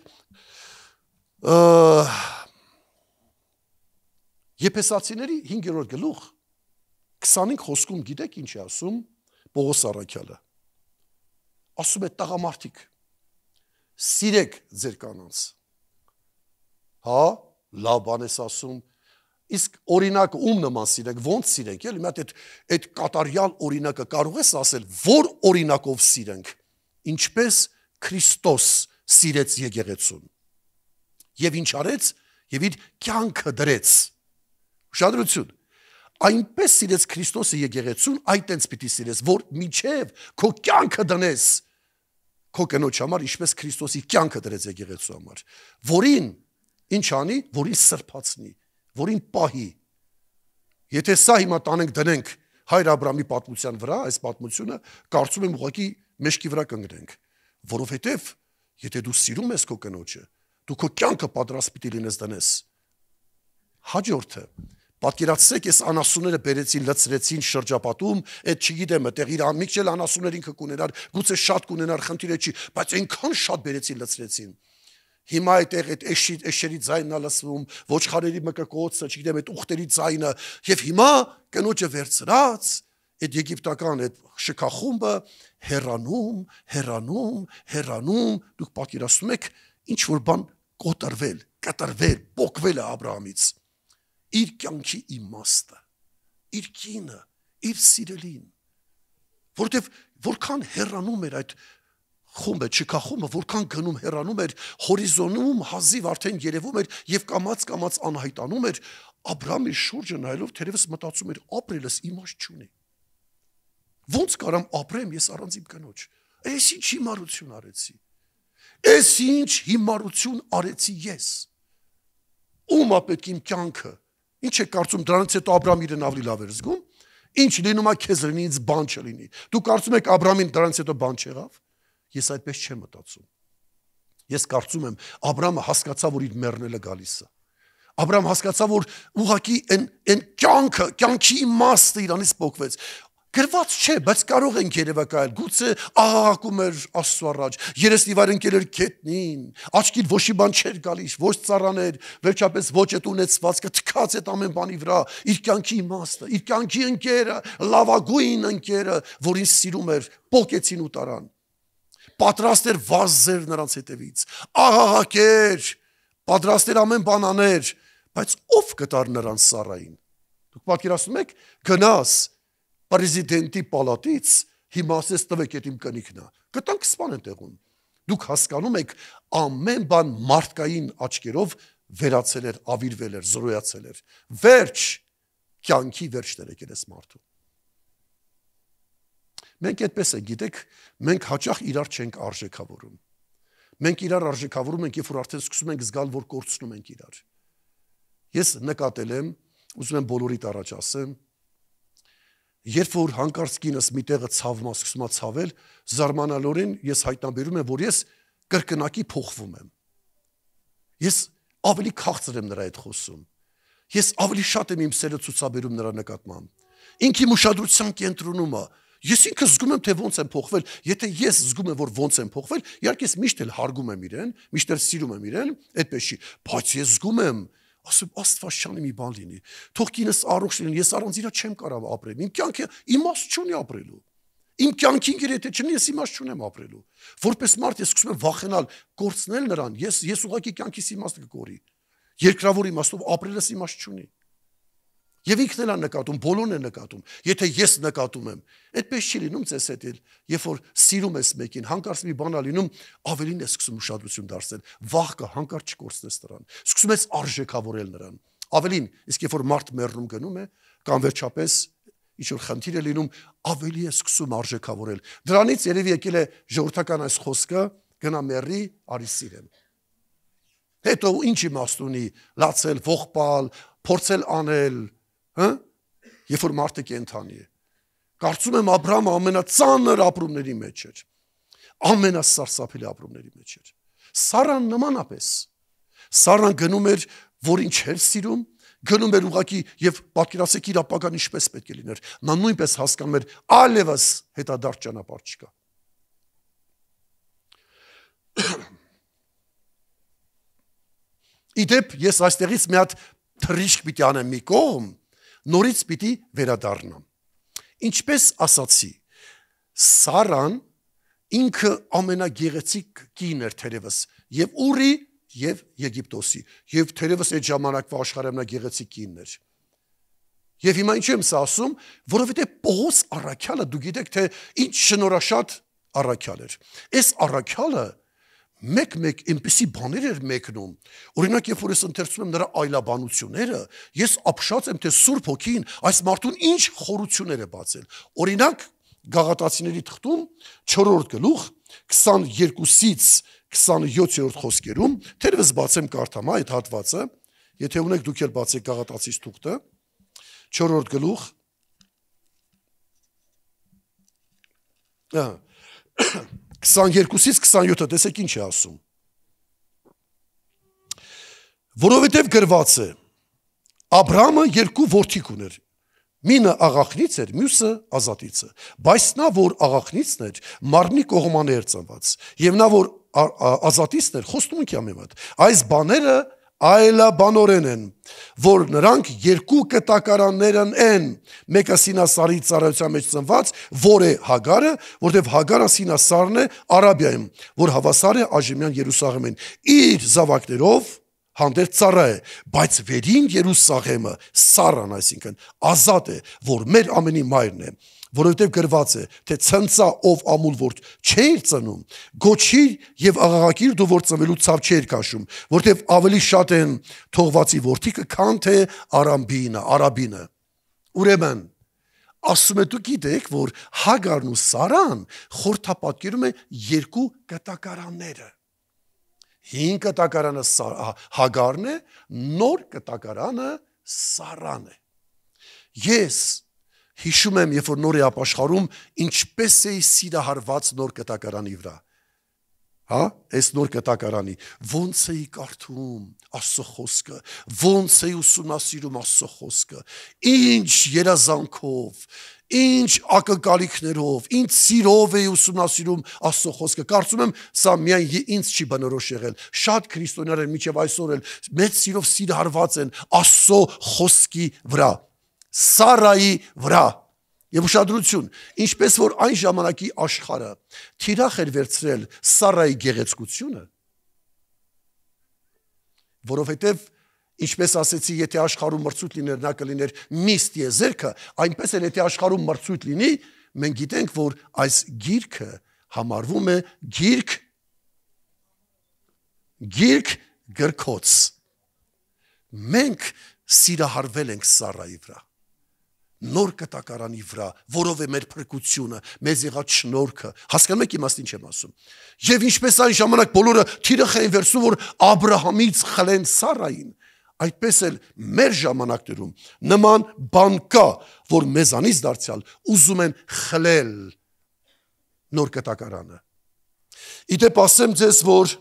Եփեսացիների 5-րդ գլուխ 25 խոսքում գիտեք ինչ է ասում Պողոս առաքյալը։ Ասում է տղամարդիկ, սիրեք ձեր կանանց։ Հա, լավ բան ես ասում։ Իսկ օրինակ ում նման սիրենք, ոնց սիրենք, էլի մի հատ այդ կատարյալ օրինակը կարող ես ասել, որ օրինակով սիրենք, ինչպես Քրիստոս սիրեց եկեղեցուն։ Եվ ինչ արեց, եւ իր կյանքը դրեց։ Ուշադրություն։ Այնպես սիրեց Քրիստոսը եկեղեցուն, այտենց պիտի սիրես, որ միջև քո կյանքը դնես քո կնոջ համար, ինչպես Քրիստոսի կյանքը դրեց եկեղեցու համար, որին ինչ անի, որին սրբացնի, որին պահի։ Եթե սա հիմա տանենք դնենք հայր Աբրահամի պատմության վրա, այս պատմությունը կարծում եմ ուղղակի մեջքի վրա կընկնենք, որովհետև եթե դու սիրում ես քո կնոջը, դու քո կյանքը պատրաստ պիտի լինես դնես։ Հաջորդը, պատկերացրեք, այս անասունները բերեցին, լցրեցին շրջապատում, այդ չգիտեմ, այդտեղ իր ամիջ էլ անասուններ ինքը կունենար, գուցե շատ կունենար, խնդիրը չի, բայց այնքան շատ բերեցին, լցրեցին։ Հիմա այդտեղ այդ էշերի ձայնն է լսվում, ոչխարերի մկկոցը, չգիտեմ, այդ ուղտերի ձայնը, եւ հիմա կնոջը վերցրած, այդ եգիպտական այդ շքախումբը հեռանում, դուք պատկերացնում եք, ինչ որ բան կտրվել, պոկվել է Աբրահամից։ Իր կյանքի իմաստը, իր կինը, իր սիրելին, որտեվ որքան հեռանում էր այդ խումբը, չքախումբը, որքան գնում հեռանում էր, հորիզոնում հազիվ արդեն երևում էր եւ կամած անհայտանում էր, Աբրահամի շուրջը նայելով թերևս մտածում էր, ապրելս իմաստ չունի։ Ոնց կարամ ապրեմ ես առանց իմ կնոջ։ Այս ինչ հիմարություն արեցի։ Այս ինչ հիմարություն արեցի ես։ Ում է պետք իմ կյանքը։ Ինչ է կարծում դրանից հետո Աբրահամը իրեն ավելի լավ էր զգում։ Ինչ լինում է քեզ լինի, ինձ բան չլինի։ Դու կարծում եք Աբրահամին դրանից հետո բան չեղավ։ Ես այդպես չեմ մտածում։ Ես կարծում եմ Աբրահամը հասկացավ, որ իր մեռնելը գալիս է։ Աբրահամ հասկացավ, որ ուղղակի այն կյանքի իմաստը իրանից փոխվեց։ Գրված չէ, բայց կարող ենք երևակայել, գուցե աղաղակում էր Աստծո առաջ, երեսնի վար ընկել էր գետնին, աչքին ոչի բան չէր գալիս, ոչ ծառաներ, վերջապես ոչ այդ ունեցվածքը թքած այդ ամեն բանի վրա, իր կյանքի իմաստը, իր կյանքի ընկերը, լավագույն ընկերը, որին սիրում էր, պոկեցին ու տարան։ Պատրաստ էր վազեր նրանց հետևից, աղաղակեր, պատրաստ էր ամեն բան աներ, բայց ով կտար նրանց Սարային։ Դուք պատկերացնում եք, գնաս Պրեզիդենտի պալատից հիմա ասես տվեք այդ իմ կնիկն է։ Կտանք սպան տեղում։ Դուք հասկանում եք ամեն բան մարդկային աչքերով վերացել էր, ավիրվել էր, զրոյացել էր։ Վերջ, կյանքի վերջ տրեկել ես մարդու։ Մենք այդպես ենք, գիտեք, մենք հաճախ իրար չենք արժեքավորում։ Մենք իրար արժեքավորում ենք, երբ որ արդեն սկսում ենք զգալ, որ կորցնում ենք իրար։ Ես նկատել եմ, ուզում եմ բոլորիդ առաջ ասեմ, երբ որ հանկարծ կինս մի տեղը ցավմա սկսում է ցավել, զարմանալորեն ես հայտնաբերում եմ, որ ես կրկնակի փոխվում եմ։ Ես ավելի քաղցր եմ նրա հետ խոսում։ Ես ավելի շատ եմ իմ սերը ցուցաբերում նրա նկատմամբ։ Ինքի ուշադրության կենտրոնում է։ Ես ինքս զգում եմ, թե ոնց եմ փոխվել։ Եթե ես զգում եմ, որ ոնց եմ փոխվել, իհարկե ես միշտ էլ հարգում եմ իրեն, միշտ էլ սիրում եմ իրեն, այդպես չի, բայց ես զգում եմ, ասում Աստվածաշանի մի բան լինի։ Թող կինս առողջ լինի, ես առանց իրա չեմ կարող ապրել։ Իմ կյանքը իմաստ չունի ապրելու։ Իմ կյանքին գերեթե չլինի, ես իմաստ չունեմ ապրելու։ Որպես մարդ ես սկսում եմ վախենալ կորցնել նրան, ես ուղղակի կյանքիս իմաստը կկորի։ Երկրավոր իմաստով ապրելս իմաստ չունի։ Եվ ինքն էլ է նկատում, բոլորն են նկատում։ Եթե ես նկատում եմ, այդպես չի լինում ձեզ հետ էլ, երբ որ սիրում ես մեկին, հանկարծ մի բան է լինում, ավելին ես սկսում ուշադրություն դարձնել, վախ կա, հանկարծ չկորցնես նրան, սկսում ես արժեքավորել նրան։ Ավելին, իսկ երբ որ մարդ մեռնում գնում է, կամ վերջապես ինչ-որ խնդիր է լինում, ավելի է սկսում արժեքավորել։ Դրանից երևի եկել է ժողովրդական այս խոսքը, գնա մեռի, արի սիրեմ։ Հետո ինչ իմաստ ունի լացել, ողբալ, փորձել անել, երբ որ մարդը կենդանի է։ Կարծում եմ Աբրահամը ամենածանր ապրումների մեջ էր, ամենասարսափելի ապրումների մեջ էր։ Սարան նմանապես, Սարան գնում էր, որին չէր սիրում, գնում էր ուղղակի եւ պատկերացեք իր ապագան ինչպես պետք է լիներ։ Նա նույնպես հասկանում էր այլևս հետադարձ ճանապարհ չկա։ Իդեպ ես այստեղից մի հատ թռիչք պիտի անեմ մի կողմ, նորից պիտի վերադառնամ։ Ինչպես ասացի, Սարան ինքը ամենագեղեցիկ կին էր թերևս եւ Ուրի եւ Եգիպտոսի, եւ թերևս այդ ժամանակվա աշխարհի ամենագեղեցիկ կինն էր։ Եվ հիմա ինչ եմ սա ասում, որովհետեւ Պողոս առաքյալը, դու գիտեք թե ինչ շնորհաշատ առաքյալ էր։ Այս առաքյալը մեկ այնպիսի բաներ էր մեկնում։ Օրինակ, երբ որ ես ընթերցում եմ նրա այլաբանությունները, ես ապշած եմ, թե Սուրբ Հոգին այս մարդուն ինչ խորություններ է բացել։ Օրինակ, Գաղատացիների թղթում 4-րդ գլուխ 22-ից 27-րդ խոսքերում, թերևս բացեմ կարդամ այդ հատվածը, եթե ունեք դուք էլ բացեք Գաղատացիս թուղթը, 4-րդ գլուխ 22-ից 27-ը, տեսեք ինչ է ասում։ Որովհետև գրված է, Աբրահամը երկու որդիկ ուներ, մինը աղախնից էր, մյուսը ազատից է, բայց նա, որ աղախնիցն էր, մարմնի կողմանը էր ծնված, եւ նա, որ ազատիցն էր, խոստումունքի ամենատ։ Այս բաները այլաբանորեն են, որ նրանք երկու կտակարաններն են, մեկը Սինասարի ծառայության մեջ ծնված, որ է Հագարը, որտեղ Հագարը Սինասարն է Արաբիայում, որ հավասար է այժմյան Երուսաղեմին, իր զավակներով հանդերձ ծառա է, բայց վերին Երուսաղեմը Սարան, այսինքն ազատ է, որ մեր ամենի մայրն է, որովհետև գրված է, թե ցնծա ով ամուլ ворդ չէր ծնում, գոչիր եւ աղաղակիր դու որ ծնվելու ցավ չէր քաշում, որովհետև ավելի շատ են թողվածի որդիկը, քան թե արաբինը։ Ուրեմն ասում է դու գիտեք, որ Հագարն ու Սարան խորթապատկերում է երկու կտակարանները։ Հին կտակարանը Հագարն է, նոր կտակարանը Սարան է։ Ես հիշում եմ, երբ որ նոր է ապաշխարում, ինչպես էի սիրահարված նոր կտակարանի վրա։ Այս նոր կտակարանի, ոնց էի կարդում Աստծո խոսքը, ոնց էի ուսումնասիրում Աստծո խոսքը, ինչ երազանքով, ինչ ակնկալիքներով, ինչ սիրով էի ուսումնասիրում Աստծո խոսքը։ Կարծում եմ, սա միայն ինձ չի բնորոշ եղել։ Շատ քրիստոնյաներ մինչև այսօր էլ մեծ սիրով սիրահարված են Աստծո խոսքի վրա, Սարայի վրա։ Եվ ուշադրություն, ինչպես որ այն ժամանակի աշխարհը թիրախ էր վերցրել Սարայի գեղեցկությունը, որովհետև ինչպես ասեցի, եթե աշխարհում մրցույթ լիներ, նա կլիներ Միս Տիեզերքը, այնպես էլ եթե աշխարհում մրցույթ լինի, մենք գիտենք, որ այս գիրքը համարվում է գիրք գրքոց։ Մենք սիրահարվել ենք Սարայի վրա, նոր կտակարանի վրա, որով է մեր փրկությունը, մեզ եղած շնորհքը։ Հասկանում եք իմաստ ինչ եմ ասում։ Եվ ինչպես այն ժամանակ բոլորը թիրախ էին վերցնում, որ Աբրահամից խլեն Սարային, այդպես էլ մեր ժամանակներում նման բան կա, որ մեզանից դարձյալ ուզում են խլել նոր կտակարանը։ Իդեպ ասեմ ձեզ, որ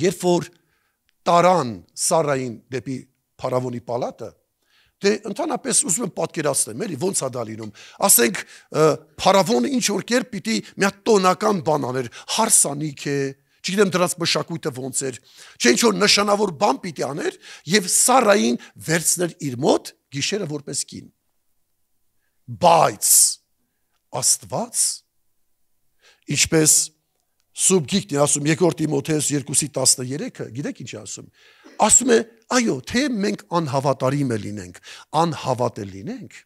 երբ որ տարան Սարային դեպի փարավոնի պալատը, դե ընդհանրապես ուզում եմ պատկերացնեմ, էլի ոնց է դա լինում։ Ասենք փարավոնը ինչ որ կերպ պիտի մի հատ տոնական բան աներ, հարսանիք է, չգիտեմ դրանց մշակույթը ոնց էր, չէ ինչ որ նշանավոր բան պիտի աներ եւ Սարային վերցներ իր մոտ գիշերը որպես կին։ Բայց Աստված, ինչպես Սուրբ Գիրքն ասում, 2 Տիմոթեոս 2:13, գիտեք ինչ ասում։ Ասում է, այո, թե մենք անհավատարիմ լինենք, անհավատ լինենք,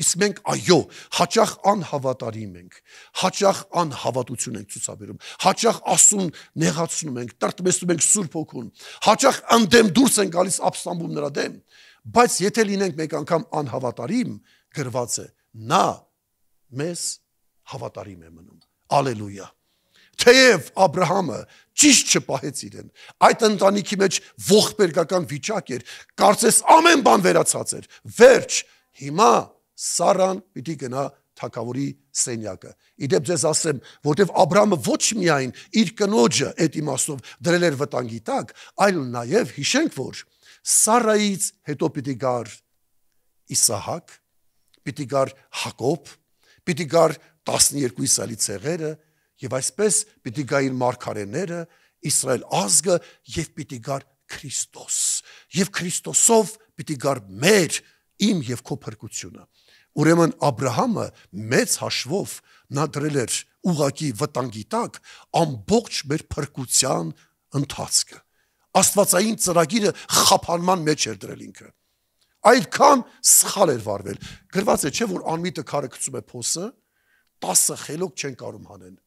իսկ մենք այո, հաճախ անհավատարիմ ենք, հաճախ անհավատություն ենք ցուցաբերում, հաճախ ասուն նեղացնում ենք, տրտմեցնում ենք Սուրբ Հոգուն, հաճախ ընդդեմ դուրս են գալիս ապստամբում նրա դեմ, բայց եթե լինենք մեկ անգամ անհավատարիմ, գրված է, նա մեզ հավատարիմ է մնում։ Ալելույա։ Թեև Աբրահամը ճիշտ չպահեց իրեն, այդ ընտանիքի մեջ ողբերգական վիճակ էր, կարծես ամեն բան վերացած էր, վերջ, հիմա Սարան պիտի գնա թագավորի սենյակը։ Իդեպ ձեզ ասեմ, որտեվ Աբրահամը ոչ միայն իր կնոջը այդ իմաստով դրել էր վտանգի տակ, այլ նաև հիշենք, որ Սարայից հետո պիտի գար Իսահակ, պիտի գար Հակոբ, պիտի գար 12 Իսրայելի ցեղերը, եւ այսպես պիտի գային մարգարեները, Իսրայել ազգը եւ պիտի գար Քրիստոս։ Եվ Քրիստոսով պիտի գար մեր, իմ եւ քո փրկությունը։ Ուրեմն Աբրահամը մեծ հաշվով նա դրել էր ուղակի վտանգի տակ ամբողջ մեր փրկության ընթացքը։ Աստվածային ծրագիրը խափանման մեջ էր դրել ինքը։ Այդքան սխալ էր վարվել։ Գրված է, չէ՞ որ անմիտը քարը գցում է փոսը, 10 խելոք չեն կարող հանեն։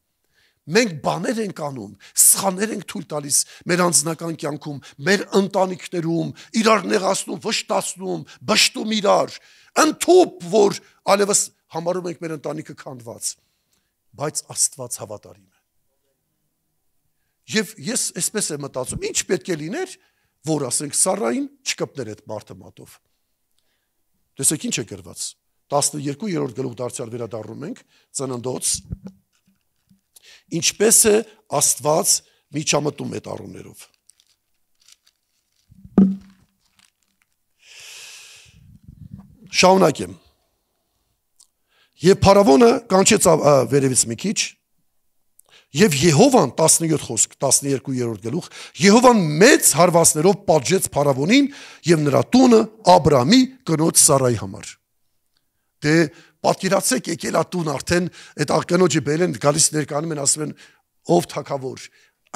Մենք բաներ ենք անում, սխալներ ենք թույլ տալիս մեր անձնական կյանքում, մեր ընտանիքներում, իրար նեղացնում, վշտացնում, բշտում իրար, ընդཐུպ, որ այլևս համարում ենք մեր ընտանիքը քանդված, բայց Աստված հավատարիմ է։ Եվ ես այսպես եմ մտածում, ինչ պետք է լիներ, որ ասենք Սարային չկպներ այդ մարդը մատով։ Տեսեք ինչ է գրված։ 12-րդ գլուխ դարձյալ վերադառնում ենք, Ծննդոց, ինչպես է Աստված միջամտում այդ առումներով։ Շարունակեմ։ Եվ փարավոնը կանչեց վերևից մի քիչ, եւ Եհովան 17 խոսք 12-րդ գլուխ, Եհովան մեծ հարվածներով պատժեց փարավոնին եւ նրա տունը Աբրամի կնոջ Սարայի համար։ Դե պատկերացեք, եկել ատուն արդեն այդ աղկնոջը բերեն, գալիս ներկանում են, ասում են, ով թագավոր,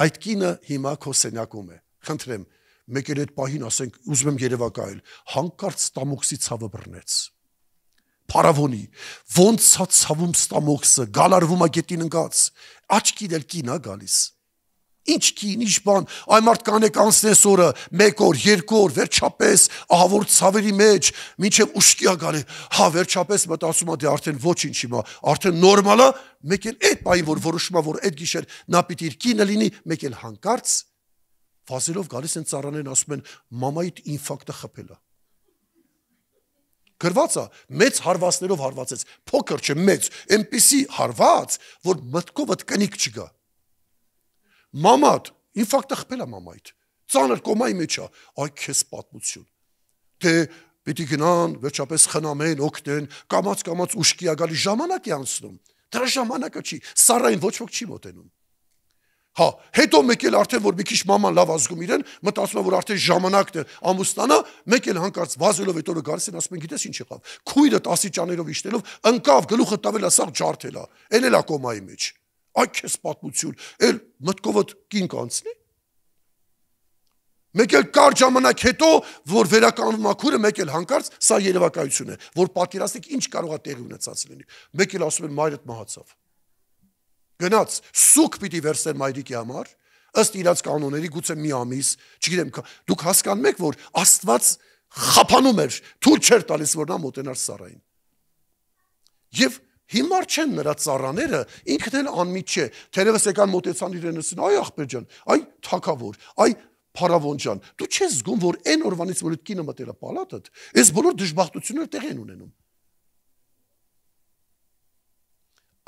այդ կինը հիմա քո սենյակում է։ Խնդրեմ, մեկ էլ այդ պահին ասենք, ուզում եմ երևակայել, հանկարծ ստամոքսի ցավը բռնեց։ Փարավոնի, ոնց է ցավում ստամոքսը, գալարվում է գետին ընկած, աչքին էլ կին է գալիս։ Ինչ կին, ինչ բան, այ մարդ կանեք անցնես օրը, 1 օր, 2 օր, վերջապես ահավոր ցավերի մեջ, մինչև ուշքի է գալի, հա վերջապես մտածում է դե արդեն ոչինչ հիմա, արդեն նորմալ է, մեկ էլ այդ պահին որ որոշում է, որ այդ գիշեր նա պիտի իր կինը լինի, մեկ էլ հանկարծ վազելով գալիս են ծառաներն ասում են մամայիդ ինֆարկտը խփել է։ Գրված է, մեծ հարվածներով հարվածեց, փոքր չէ, մեծ, այնպիսի հարված, որ մտքովդ կնիկ չգա։ Մամատ, ինֆարկտը խփել է մամայիդ, ծանր կոմայի մեջ է, այ քեզ պատմություն։ Դե պիտի գնան, վերջապես խնամեն, օգնեն, կամաց ուշքի է գալի, ժամանակ է անցնում։ Դրա ժամանակը չի, Սարային ոչ ոք չի մոտենում։ Հա, հետո մեկ էլ արդեն որ մի քիչ մաման լավ ազգում իրեն, մտածում է որ արդեն ժամանակն է ամուսնանա, մեկ էլ հանկարծ վազելով այդ օրը գալիս են ասում են գիտես ինչ եղավ։ Քույրը տասիճաներով իշտելով ընկավ, գլուխը տվել է, սաղ ջարդել է, էլ է կոմայի մեջ։ Այ քեզ պատմություն, էլ մտքովդ կին կանցնի։ Մեկ էլ կար ժամանակ հետո, որ վերականգնում է քույրը, մեկ էլ հանկարծ սա երևակայություն է, որ պատկերացնեք ինչ կարող է տեղի ունեցած լինի։ Մեկ էլ ասում են մայրդ մահացավ։ Գնաց, սուկ պիտի վերցնել մայրիկի համար, ըստ իրաց կանոնների գուցե մի ամիս, չգիտեմ, դուք հասկանում եք, որ Աստված խափանում էր, թույլ չէր տալիս, որ նա մոտենար Սարային։ Եվ հիմար չեն նրա ծառաները, ինքն էլ անմիջ չէ, թերևս եկան մոտեցան իրեն ասին, այ աղբեր ջան, այ թագավոր, այ փարավոն ջան, դու չես զգում, որ այն օրվանից որ այդ կինը մտել է պալատդ, այս բոլոր դժբախտությունները տեղ են ունենում։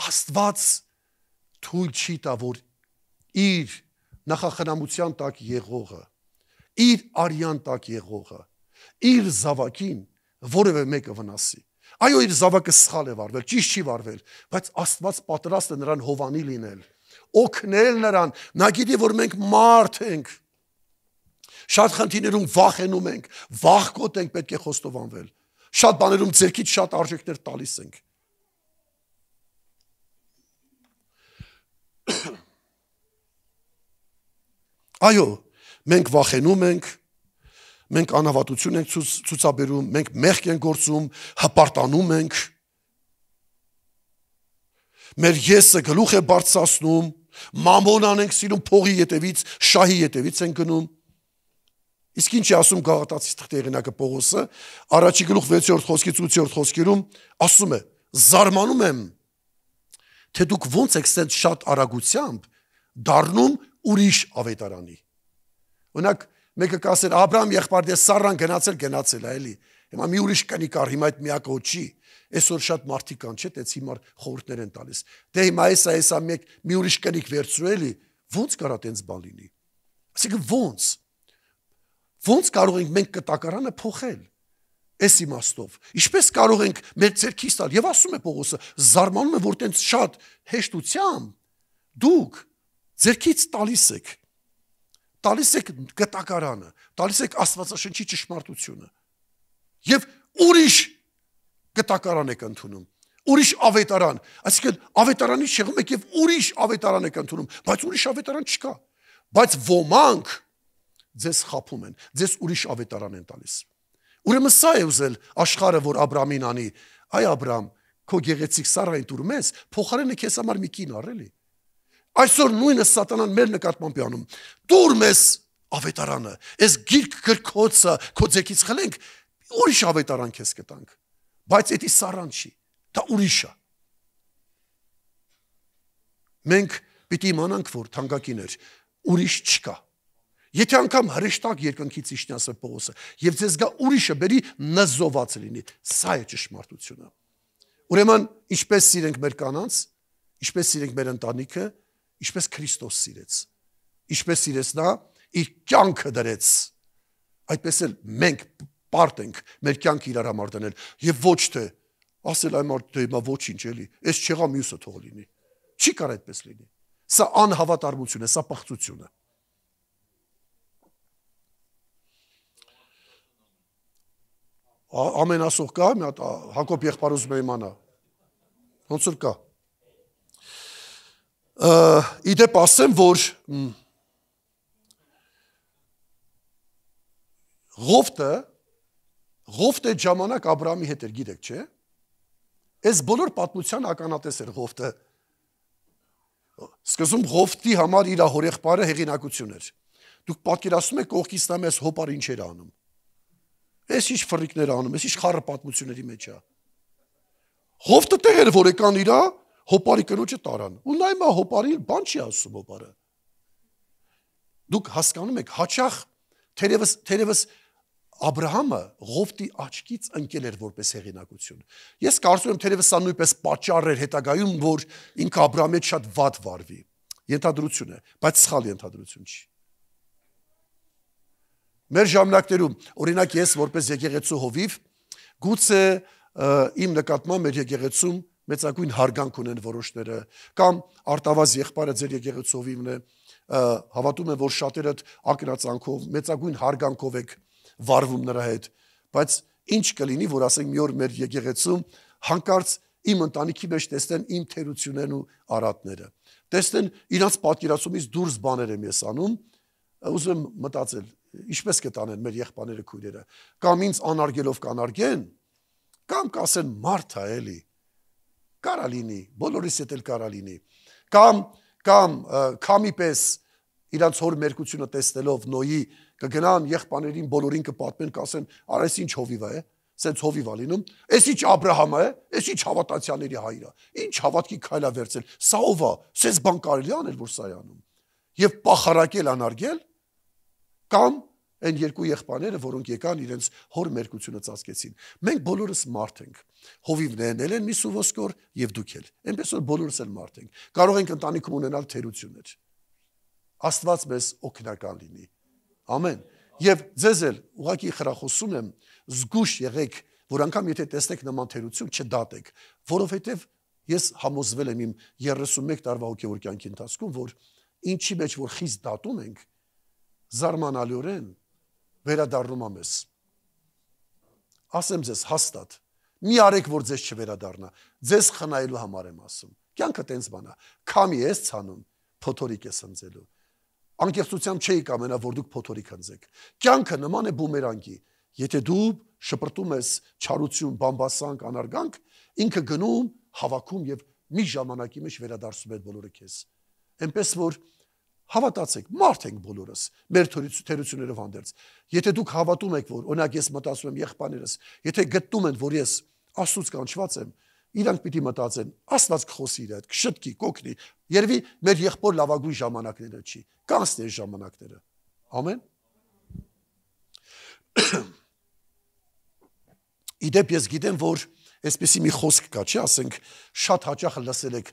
Աստված թույլ չի տա, որ իր նախախնամության տակ եղողը, իր արյան տակ եղողը, իր զավակին որևէ մեկը վնասի։ Այո, իր զավակը սխալ է վարվել, ճիշտ չի վարվել, բայց Աստված պատրաստ է նրան հովանի լինել, օգնել նրան, նա գիտի, որ մենք մարդ ենք, շատ խնդիրներում վախենում ենք, վախկոտ ենք, պետք է խոստովանվել, շատ բաներում ձերքից շատ արժեքներ տալիս ենք։ Այո, մենք վախենում ենք, մենք անհավատություն ենք ցուցաբերում, մենք մեղք ենք գործում, հպարտանում ենք, մեր եսը գլուխ է բարձրացնում, մամոնան ենք սիրում, փողի ետևից, շահի ետևից ենք գնում։ Իսկ ինչ է ասում Գաղատացի թղթի հեղինակը Պողոսը, առաջի գլուխ 6-րդ խոսքից 8-րդ խոսքերում ասում է. զարմանում եմ, թե դուք ոնց եք սենց շատ արագությամբ դառնում ուրիշ ավետարանի։ Օրինակ, մեկը կասեր Աբրահամ եղբայրը Սառան գնացել է, էլի։ Հիմա մի ուրիշ կնիկ առ, հիմա այդ միակը չի։ Այսօր շատ մարդիկ կան, չէ՞, տենց հիմար խորհուրդներ են տալիս։ Դե հիմա էսա մի ուրիշ կնիկ վերցրու էլի, ո՞նց կարա տենց բան լինի։ Այսինքն ո՞նց կարող ենք մենք կտակարանը փոխել։ Այս իմաստով։ Ինչպես կարող ենք մեր ձեռքից տալ։ Եվ ասում է Պողոսը, զարմանում եմ, որ տենց շատ հեշտությամբ դուք ձեռքից տալիս եք կտակարանը, տալիս եք Աստվածաշնչի ճշմարտությունը։ Եվ ուրիշ կտակարան եք ընդունում, ուրիշ ավետարան, այսինքն ավետարանից շեղում եք եւ ուրիշ ավետարան եք ընդունում, բայց ուրիշ ավետարան չկա, բայց ոմանք ձեզ խափում են, ձեզ ուրիշ ավետարան են տալիս։ Ուրեմն սա է ուզել աշխարհը, որ Աբրամին անի, այ Աբրամ, քո գեղեցիկ Սառային տուր մեզ, փոխարենը քեզ համար մի կին առ էլի։ Այսօր նույնը սատանան մեր նկատմամբ է անում։ Տուր մեզ ավետարանը, այս գիրք գրքոցը քո ձեռքից խլենք, ուրիշ ավետարան քեզ կտանք։ Բայց դա Սառան չի, դա ուրիշ է։ Մենք պիտի իմանանք, որ թանկագիներ, ուրիշ չկա։ Եթե անգամ հրեշտակ երկնքից իջնի ասել Պողոսը, եւ ձեզ գա ուրիշը բերի նզոված լինի, սա է ճշմարտությունը։ Ուրեմն, ինչպես սիրենք մեր կանանց, ինչպես սիրենք մեր ընտանիքը, ինչպես Քրիստոս սիրեց, ինչպես սիրեց նա իր կյանքը դրեց, այդպես էլ մենք պարտ ենք մեր կյանքը իրար համար դնել եւ ոչ թե ասել այ մարդ դե հիմա ոչինչ էլի, այս չեղա մյուսը թող լինի։ Չի կարող այդպես լինի։ Սա անհավատարմություն է, սա պղծություն է։ Ամենասող կա, մի հատ Հակոբ եղբայր ուզում է իմանա։ Ոնց որ կա։ Իդեպ ասեմ, որ Ղովտը ժամանակ Աբրահամի հետ էր, գիտեք, չէ՞։ Այս բոլոր պատմության ականատես էր Ղովտը։ Սկզբում Ղովտի համար իր հորեղբայրը հեղինակություն էր։ Դուք պատկերացնում եք կողքից նա մեզ հոպար ինչ էր անում։ Այս ինչ ֆրիկներ անում, այս ինչ խառը պատմությունների մեջ է։ Ղովտը տեղ էր, որ եկան իրա հոպարի կնոջը տարան։ Ու նա հիմա հոպարի բան չի ասում հոպարը։ Դուք հասկանում եք, հաճախ թերևս Աբրահամը Ղովտի աչքից ընկել էր որպես հեղինակություն։ Ես կարծում եմ թերևս սա նույնպես պատճառ էր հետագայում, որ ինքը Աբրահամի հետ շատ վատ վարվի։ Ենթադրություն է, բայց սխալ ենթադրություն չի։ Մեր ժամանակներում, օրինակ ես որպես եկեղեցու հովիվ, գուցե իմ նկատմամբ մեր եկեղեցում մեծագույն հարգանք ունեն որոշները, կամ Արտավազ եղբայրը ձեր եկեղեցու հովիվն է, հավատում եմ, որ շատերդ ակնածանքով, մեծագույն հարգանքով եք վարվում նրա հետ, բայց ինչ կլինի, որ ասենք մի օր մեր եկեղեցում հանկարծ իմ ընտանիքի մեջ տեսնեն իմ թերություններն ու արատները, տեսնեն իրանց պատկերացումից դուրս բաներ եմ ես անում, ուզում եմ մտածել, ինչպես կտանեն մեր եղբայրները քույրերը, կամ ինձ անարգելով կանարգեն, կամ կասեն մարդ է էլի, կարա լինի, բոլորիս հետ էլ կարա լինի, կամ քամի պես իրանց հոր մերկությունը տեսնելով Նոյի կգնան եղբայրներին բոլորին կպատմեն, կասեն, արա այս ինչ հովիվ է, սենց հովիվ է լինում, այս ինչ Աբրահամ է, այս ինչ հավատացյալների հայր է, ինչ հավատքի քայլ է վերցել, սա ով է, սենց բան կարելի անել, որ սա է անում, եւ պախարակել անարգել, կամ այն երկու եղբայրները, որոնք եկան իրենց հոր մերկությունը ծածկեցին։ Մենք բոլորս մարդ ենք, հովիվներն են մի սուոսկոր եւ դուք էլ, այնպես որ բոլորս էլ մարդ ենք, կարող ենք ընտանիքում ունենալ թերություններ։ Աստված մեզ օգնական լինի։ Ամեն։ Եվ ձեզ էլ ուղղակի խրախուսում եմ, զգուշ եղեք, որ անգամ եթե տեսնեք նման թերություն, չդատեք, որովհետև ես համոզվել եմ իմ 31 տարվա հոգևոր կյանքի ընթացքում, որ ինչի մեջ որ խիստ դատում ենք, զարմանալիորեն վերադառնում է մեզ։ Ասեմ ձեզ հաստատ, մի արեք, որ ձեզ չվերադառնա, ձեզ խնայելու համար եմ ասում։ Կյանքը տենց բան է, քամի ես ցանում, փոթորիկ ես ընձելու։ անկեղծությամբ չէի կամենա, որ դուք փոթորիկ հնձեք։ Կյանքը նման է բումերանգի։ Եթե դու շպրտում ես չարություն, բամբասանք, անարգանք, ինքը գնում, հավաքում եւ մի ժամանակի մեջ վերադարձում է բոլորը քեզ։ Այնպես որ հավատացեք, մարդ ենք բոլորս, մեր թերություններով հանդերձ։ Եթե դուք հավատում եք, որ օրինակ ես մտածում եմ եղբայրներս, եթե գտնում են, որ ես Աստծուց կանչված եմ, իրանք պիտի մտածեն, Աստված կխոսի իր հետ, կշտկի, կօգնի։ Երևի մեր եղբոր լավագույն ժամանակները չի, կանցնի այս ժամանակները։ Ամեն։ Իդեպ ես գիտեմ, որ այսպեսի մի խոսք կա, չէ՞, ասենք, շատ հաճախ լսել եք,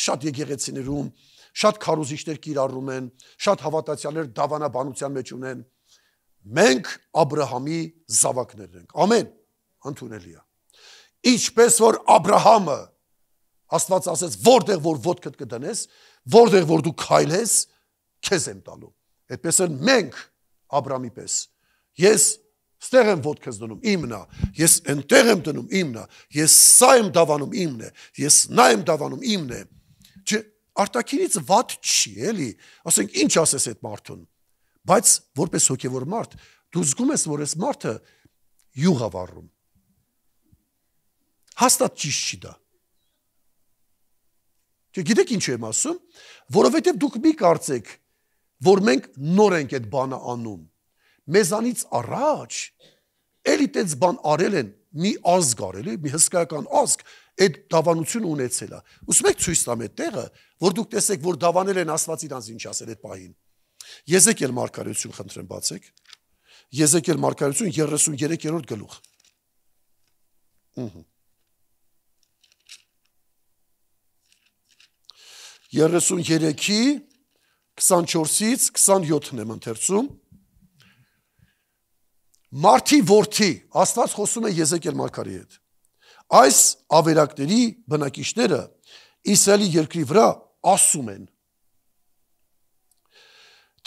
շատ եկեղեցիներում, շատ քարոզիչներ կիրառում են, շատ հավատացյալներ դավանաբանության մեջ ունեն։ Մենք Աբրահամի զավակներն ենք։ Ամեն։ Ընդունելի է։ Ինչպես որ Աբրահամը Աստված ասեց, որտեղ որ ոտքդ կդնես, որտեղ որ դու քայլես, քեզ եմ տալու։ Այդպես էլ մենք Աբրահամի պես։ Ես ստեղ եմ ոտքս դնում, իմն է, ես այնտեղ եմ դնում, իմն է, ես սա եմ դավանում, իմն է, ես նա եմ դավանում, իմն է։ Չէ, արտաքինից վատ չի, էլի, ասենք ինչ ասես այդ մարդուն, բայց որպես հոգևոր մարդ, դու զգում ես, որ այս մարդը յուղ է վառում։ Հաստատ ճիշտ չի դա։ Չէ, գիտեք ինչ եմ ասում, որովհետև դուք մի կարծեք, որ մենք նոր ենք այդ բանը անում։ Մեզանից առաջ էլի տենց բան արել են, մի ազգ արել է, մի հսկայական ազգ, այդ դավանությունը ունեցել է։ Ուսում եք ցույց տամ այդ տեղը, որ դուք տեսեք, որ դավանել են Աստված իրանց ինչ ասել այդ պահին։ Եզեկիել մարգարեություն խնդրեմ բացեք։ Եզեկիել մարգարեություն 33-րդ գլուխ։ 33-ի 24-ից 27-ն եմ ընթերցում։ Մարդի որդի, Աստված խոսում է Եզեկիել մարգարեի հետ։ Այս ավերակների բնակիչները Իսրայելի երկրի վրա ասում են,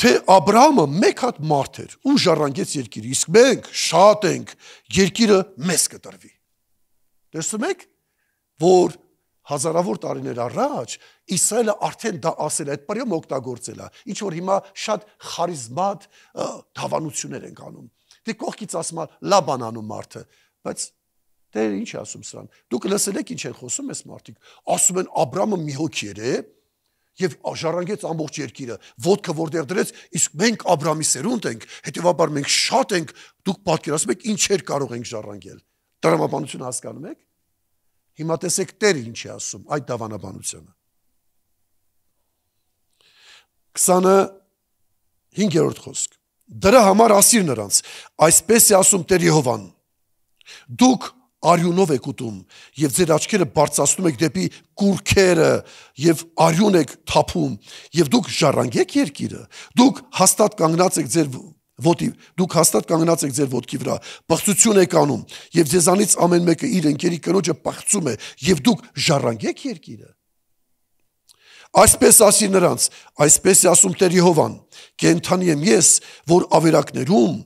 թե Աբրահամը մեկ հատ մարդ էր ու ժառանգեց երկիրը, իսկ մենք շատ ենք, երկիրը մեզ կտրվի։ Տեսնում եք, որ հազարավոր տարիներ առաջ Իսրայելը արդեն դա ասել է, այդ պարյում օգտագործել է, ինչ որ հիմա շատ խարիզմատ դավանություններ են անում։ Դե կողքից ասում է լաբան անում մարդը, բայց դե ինչ է ասում սրան։ Դուք լսել եք ինչ են խոսում այս մարդիկ։ Ասում են Աբրահամը մի հոգի էր, եւ ժառանգեց ամբողջ երկիրը, ոտքը որտեղ դրեց, իսկ մենք Աբրահամի սերունդ ենք, հետեւաբար մենք շատ ենք, դուք պատկերացնում եք ինչեր կարող ենք ժառանգել։ Տրամաբանությունը հասկանում եք։ Հիմա տեսեք Տերը ինչ է ասում այդ դավանաբանությունը։ 25-րդ խոսք։ Դրա համար ասիր նրանց, այսպես է ասում Տեր Եհովան. դուք արյունով եք ուտում եւ ձեր աչքերը բարձրացնում եք դեպի կուրքերը եւ արյուն եք թափում եւ դուք ժառանգեք երկիրը, դուք հաստատ կանգնած եք ձեր ոտքի վրա, բղծություն եք անում եւ ձեզանից ամեն մեկը իր ընկերի կնոջը բղծում է եւ դուք ժառանգեք երկիրը։ Այսպես ասի նրանց, այսպես է ասում Տեր Եհովան, կենդանի եմ ես, որ ավերակներում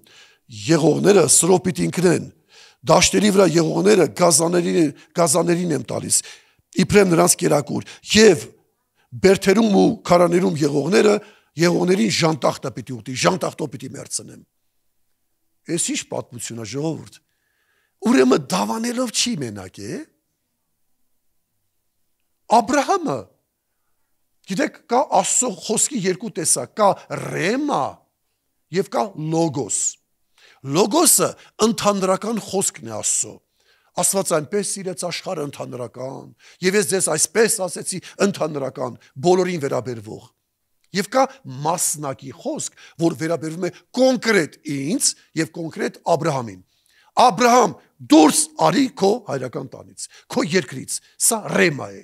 եղողները սրով պիտի ընկնեն, դաշտերի վրա եղողները գազաներին եմ տալիս, իբրև նրանց կերակուր, եւ բերդերում ու քարաներում եղողներին ժանտախտը պիտի ուտի, ժանտախտով պիտի մերցնեմ։ Այս ինչ պատմություն է, ժողովուրդ։ Ուրեմն դավանելով չի մենակ է։ Աբրահամը, գիտեք, կա Աստծո խոսքի երկու տեսակ, կա ռեմա եւ կա լոգոս։ Լոգոսը ընդհանրական խոսքն է Աստծո։ Աստված այնպես սիրեց աշխարհը ընդհանրական, եւ ես ձեզ այսպես ասեցի ընդհանրական, բոլորին վերաբերվող։ Եվ կա մասնակի խոսք, որ վերաբերվում է կոնկրետ ինձ եւ կոնկրետ Աբրահամին։ Աբրահամ, դուրս արի քո հայրական տանից, քո երկրից։ Սա ռեմա է։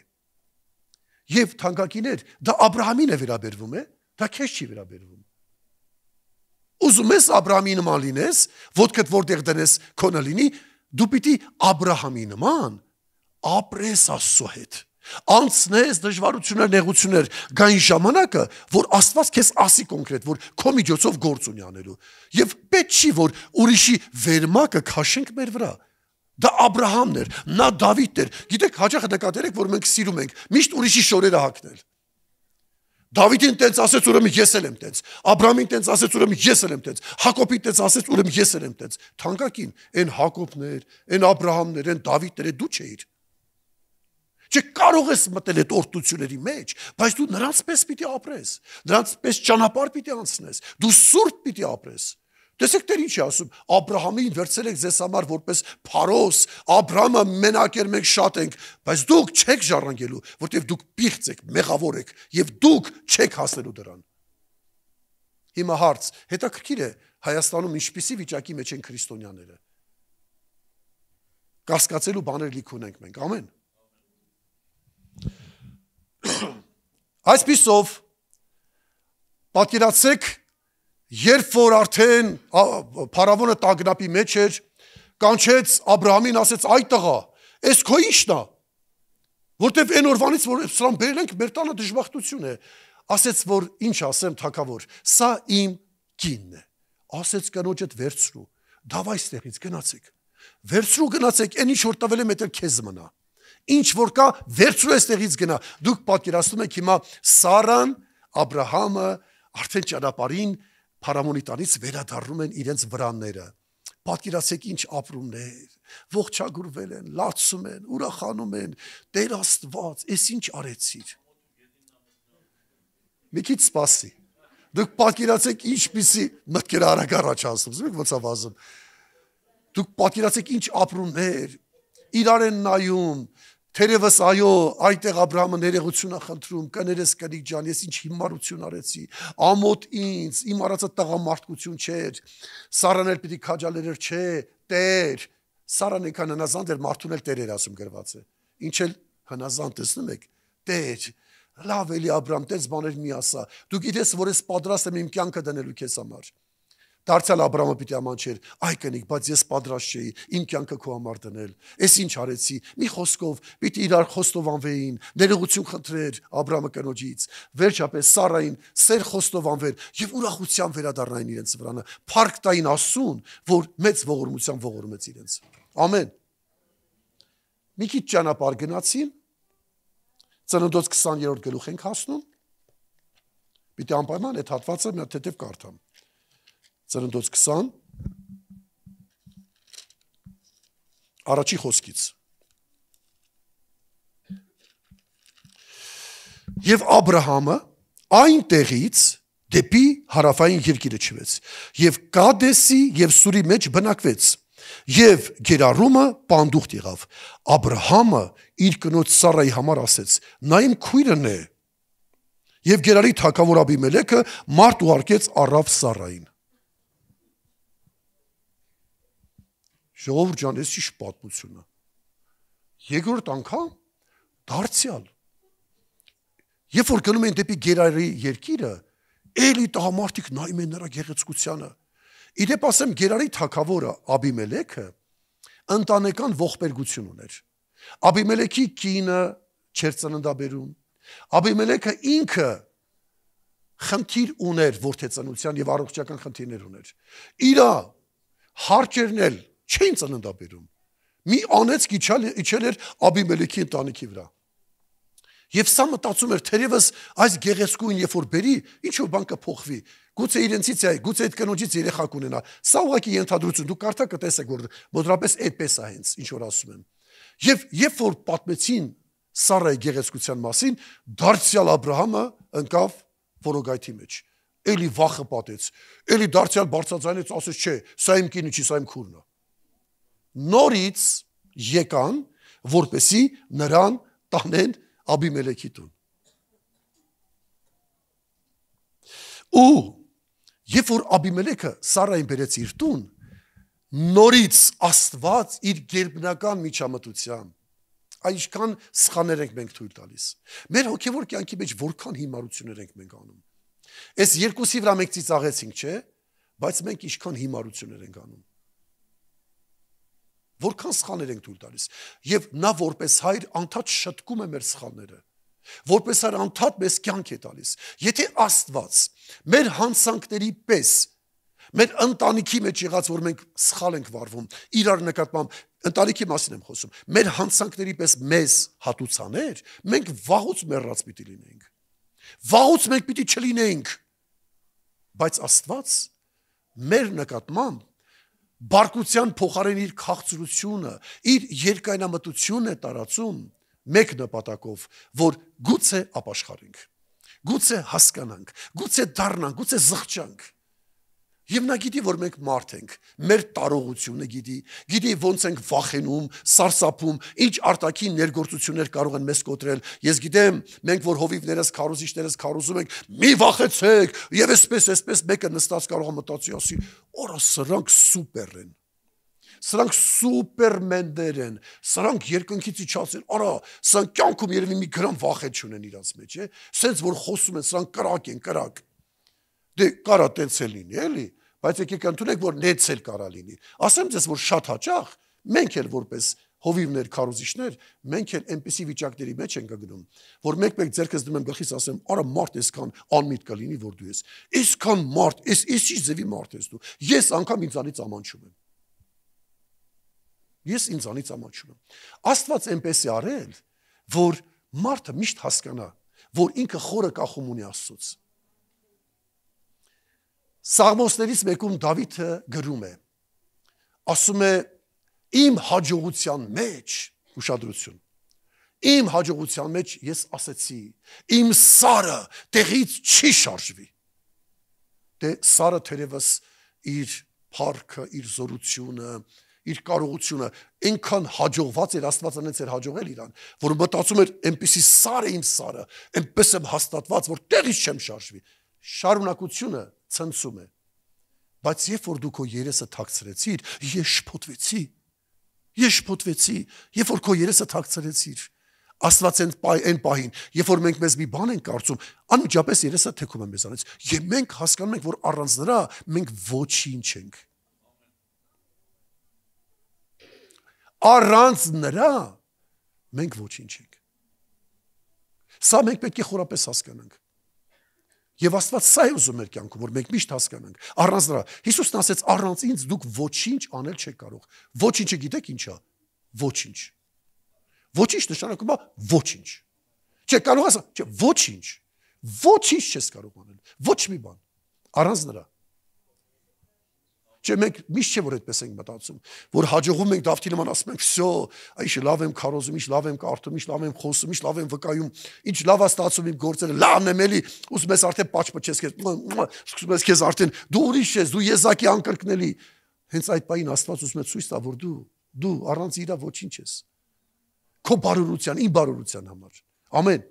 Եվ թանկագիներ, դա Աբրահամին է վերաբերվում, դա քեզ չի վերաբերվում։ Ուզում ես Աբրահամի նման լինես, ոտքդ որտեղ դնես քոնը լինի, դու պիտի Աբրահամի նման ապրես Աստծո հետ։ Անցնես դժվարություններ, նեղություններ, գային ժամանակը, որ Աստված քեզ ասի կոնկրետ, որ քո միջոցով գործ ունի անելու։ Եվ պետք չի, որ ուրիշի վերմակը քաշենք մեր վրա։ Դա Աբրահամն էր, նա Դավիթն էր։ Գիտեք, հաճախ նկատել եք, որ մենք սիրում ենք միշտ ուրիշի շորերը հագնել։ Դավիթին տենց ասեց, ուրեմն ես էլ եմ տենց։ Աբրահամին տենց ասեց, ուրեմն ես էլ եմ տենց։ Հակոբին տենց ասեց, ուրեմն ես էլ եմ տենց։ Թանկագին, այն Հակոբներ, այն Աբրահամներ, այն Դավիթները դու չէիր։ Չէ, կարող ես մտել այդ օրդությունների մեջ, բայց դու նրանց պես պիտի ապրես, նրանց պես ճանապարհ պիտի անցնես, դու սուրբ պիտի ապրես։ Տեսեք Տեր ինչ է ասում, Աբրահամին վերցրել եք ձեզ համար որպես փարոս, Աբրահամը մենակ էր, մենք շատ ենք, բայց դուք չեք ժառանգելու, որտեղ դուք պիղծ եք, մեղավոր եք, եւ դուք չեք հասնելու դրան։ Հիմա հարց, հետաքրքիր է Հայաստանում ինչպիսի վիճակի մեջ են քրիստոնյաները։ Կասկածելու բաներ լիք ունենք մենք, ամեն։ Այսպիսով պատկերացեք, երբ որ արդեն փարավոնը տագնապի մեջ էր, կանչեց Աբրահամին, ասեց այ տղա, այս քո ի՞նչն է, որտեվ այն օրվանից որ սրան բերել ենք, մեր տանը դժբախտություն է, ասեց որ ինչ ասեմ թագավոր, սա իմ կինն է, ասեց կնոջդ վերցրու, դավայ ստեղից գնացեք, վերցրու գնացեք, այն ինչ որ տվել եմ դա քեզ մնա, ինչ որ կա վերցրու այստեղից գնա, դուք պատկերացնում եք հիմա Սարան, Աբրահամը արդեն ճանապարհին Փարավոնի տանից վերադառնում են իրենց վրանները։ Պատկերացեք ինչ ապրումներ, ողջագուրվել են, լացում են, ուրախանում են, Տեր Աստված, ես ինչ արեցիր։ Մի քիչ սպասի։ Դուք պատկերացեք ինչպիսի մտքեր արագ առաջ անցնում, զգուք ոնց է վազում։ Դուք պատկերացեք ինչ ապրումներ, իրար են նայում, թերևս այո, այդտեղ Աբրահամը ներողություն է խնդրում, կներես կնիկ ջան, ես ինչ հիմարություն արեցի, ամոթ ինձ, իմ արածը տղամարդկություն չէր, Սարան էլ պիտի քաջալերեր չէ, Տեր, Սարան եկան հնազանդ էր, մարդուն էլ Տեր էր ասում գրված է, ինչ էլ հնազանդ տեսնում եք, Տեր, լավ էլի Աբրահամ, տես բաներ մի ասա, դու գիտես, որ ես պատրաստ եմ իմ կյանքը դնելու քեզ համար։ Դարձյալ Աբրահամը պիտի ամանչեր, այ կնիկ, բայց ես պատրաստ չէի իմ կյանքը քո համար դնել։ Ես ինչ արեցի։ Մի խոսքով պիտի իրար խոստովանվեին, ներողություն խնդրեր Աբրահամը կնոջից։ Վերջապես Սարային սեր խոստովանվեր եւ ուրախությամբ վերադառնային իրենց վրանը։ Փառք տային Աստծուն, որ մեծ ողորմությամբ ողորմեց իրենց։ Ամեն։ Մի քիչ ճանապարհ գնացին։ Ծննդոց 20-րդ գլուխ ենք հասնում։ Պիտի անպայման այդ հատվածը մի հատ թեթև կարդամ։ Ծննդոց 20 առաջի խոսքից Եվ Աբրահամը այնտեղից դեպի հարավային երկիրը չվեց եւ Կադեսի եւ Սուրի մեջ բնակվեց եւ Գերարումը պանդուխտ եղավ Աբրահամը իր կնոջ Սարայի համար ասեց նա իմ քույրն է եւ Գերարի թագավոր Աբիմելեքը մարդ ուղարկեց առավ Սարային Ժողովուրդ ջան, ես ինչ պատմություն է։ Երկրորդ անգամ դարձյալ։ Երբ որ գնում են դեպի Գերարի երկիրը, էլի տղամարդիկ նայում են նրա գեղեցկությանը։ Իդեպ ասեմ Գերարի թագավորը Աբիմելեքը ընտանեկան ողբերգություն ուներ։ Աբիմելեքի կինը չէր ծննդաբերում։ Աբիմելեքը ինքը խնդիր ուներ որդեծանության եւ առողջական խնդիրներ ուներ։ Իրա հարկերն էլ չէին ծննդաբերում։ Մի անեծք իջել էր Աբիմելեքի ընտանիքի վրա։ Եվ սա մտածում էր, թերևս այս գեղեցկույն երբ որ բերի, ինչ որ բան կփոխվի։ Գուցե իրենցից է, գուցե այդ կնոջից երեխա կունենա։ Սա ուղղակի ենթադրություն, դու կարդա կտեսեք, որ մոտավորապես այդպես է հենց, ինչ որ ասում եմ։ Եվ երբ որ պատմեցին Սարայի գեղեցկության մասին, դարձյալ Աբրահամը ընկավ որոգայթի մեջ։ Էլի վախը պատեց։ Էլի դարձյալ բարձրաձայնեց, ասեց, չէ, սա իմ կինը չի, սա իմ քուրն է։ Նորից եկան, որպեսի նրան տանեն Աբիմելեքի տուն։ Ու երբ որ Աբիմելեքը Սարային բերեց իր տուն, նորից Աստված իր գերբնական միջամտությամբ, այնքան սխալներ ենք մենք թույլ տալիս։ Մեր հոգևոր կյանքի մեջ որքան հիմարություններ ենք մենք անում։ Այս երկուսի վրա մենք ծիծաղեցինք, չէ՞, բայց մենք ինչքան հիմարություններ ենք անում։ Որքան սխալներ ենք թույլ տալիս։ Եվ նա որպես հայր անդադ շտկում է մեր սխալները։ Որպես հայր անդադ մեզ կյանք է տալիս։ Եթե Աստված մեր հանցանքների պես, մեր ընտանիքի մեջ եղած, որ մենք սխալ ենք վարվում, իրար նկատմամբ, ընտանիքի մասին եմ խոսում, մեր հանցանքների պես մեզ հատուցաներ, մենք վաղուց մեռած պիտի լինենք։ Վաղուց մենք պիտի չլինենք, բայց Աստված մեր նկատմամբ բարկության փոխարեն իր քաղցրությունը, իր երկայնամտությունն է տարածում մեկ նպատակով, որ գուցե ապաշխարենք, գուցե հասկանանք, գուցե դառնանք, գուցե զղջանք։ Եվ նա գիտի, որ մենք մարդ ենք, մեր տարողությունը գիտի ոնց ենք վախենում, սարսափում, ինչ արտաքին ներգործություններ կարող են մեզ կոտրել։ Ես գիտեմ, մենք որ հովիվներս, քարոզիչներս քարոզում ենք, մի վախեցեք, եւ այսպես մեկը նստած կարող է մտածի ասի, «Օրա, սրանք սուպեր են»։ Սրանք սուպերմեններ են, սրանք երկնքից իջացել, արա, սրանք կյանքում երևի մի գրամ վախետ չունեն իրաց մեջ, է, սենց որ խոսում են, սրանք կրակ են, կրակ։ Դե կարա տենց էլ լինի, էլի, բայց եկեք ընդունեք, որ նենց էլ կարա լինի։ Ասեմ ձեզ, որ շատ հաճախ մենք էլ որպես հովիվներ, քարոզիչներ, մենք էլ այնպիսի վիճակների մեջ ենք գնում, որ մեկ ձեռքս դնում եմ գլխիս ասեմ, արա մարդ այսքան անմիտ կլինի, որ դու ես։ Այսքան մարդ, այս ի՞նչ ձևի մարդ ես դու։ Ես անգամ ինձանից ամանչում եմ։ Ես ինձանից ամանչում եմ։ Աստված այնպես է արել, որ մարդը միշտ հասկանա, որ ինքը խորը կախում ունի Աստծուց։ Սաղմոսներից մեկում Դավիթը գրում է, ասում է, իմ հաջողության մեջ, ուշադրություն, իմ հաջողության մեջ ես ասեցի, իմ սարը տեղից չի շարժվի։ Դե սարը թերևս իր փառքը, իր զորությունը, իր կարողությունը այնքան հաջողված էր, Աստված անեց էր հաջողել իրան, որ մտածում էր, այնպիսի սար է իմ սարը, այնպես եմ հաստատված, որ տեղից չեմ շարժվի։ Շարունակությունը ցնցում է։ Բայց երբ որ դու քո երեսը թաքցրեցիր, ես շփոթվեցի, երբ որ քո երեսը թաքցրեցիր, Աստված այն պահին, երբ որ մենք մեզ մի բան ենք կարծում, անմիջապես երեսը թեքում է մեզանից, եւ մենք հասկանում ենք, որ առանց նրա մենք ոչինչ ենք։ Առանց նրա մենք ոչինչ ենք։ Սա մենք պետք է խորապես հասկանանք։ Եվ Աստված սա է ուզում մեր կյանքում, որ մենք միշտ հասկանանք։ Առանց նրա Հիսուսն ասեց, առանց ինձ դուք ոչինչ անել չեք կարող։ Ոչինչը գիտեք ինչ է։ Ոչինչ։ Ոչինչ նշանակում է ոչինչ։ Չէ, կարող ասա, չէ, ոչինչ։ Ոչինչ չես կարող անել։ Ոչ մի բան։ Առանց նրա։ Չէ, մենք միշտ չէ որ այդպես ենք մտածում, որ հաջողում ենք Դավթի նման ասում ենք, «Վсё, այշ լավ եմ քարոզում, ինչ լավ եմ կարդում, ինչ լավ եմ խոսում, ինչ լավ եմ վկայում, ինչ լավ է ստացում իմ գործերը, լավն եմ էլի, ուզում ես արդեն պաչպչես քեզ, սկսում ես քեզ արդեն դու ուրիշ ես, դու եզակի անկրկնելի»։ Հենց այդ պահին Աստված ուզում է ցույց տա, որ դու առանց իրա ոչինչ ես։ Քո բարօրության, իմ բարօրության համար։ Ամեն։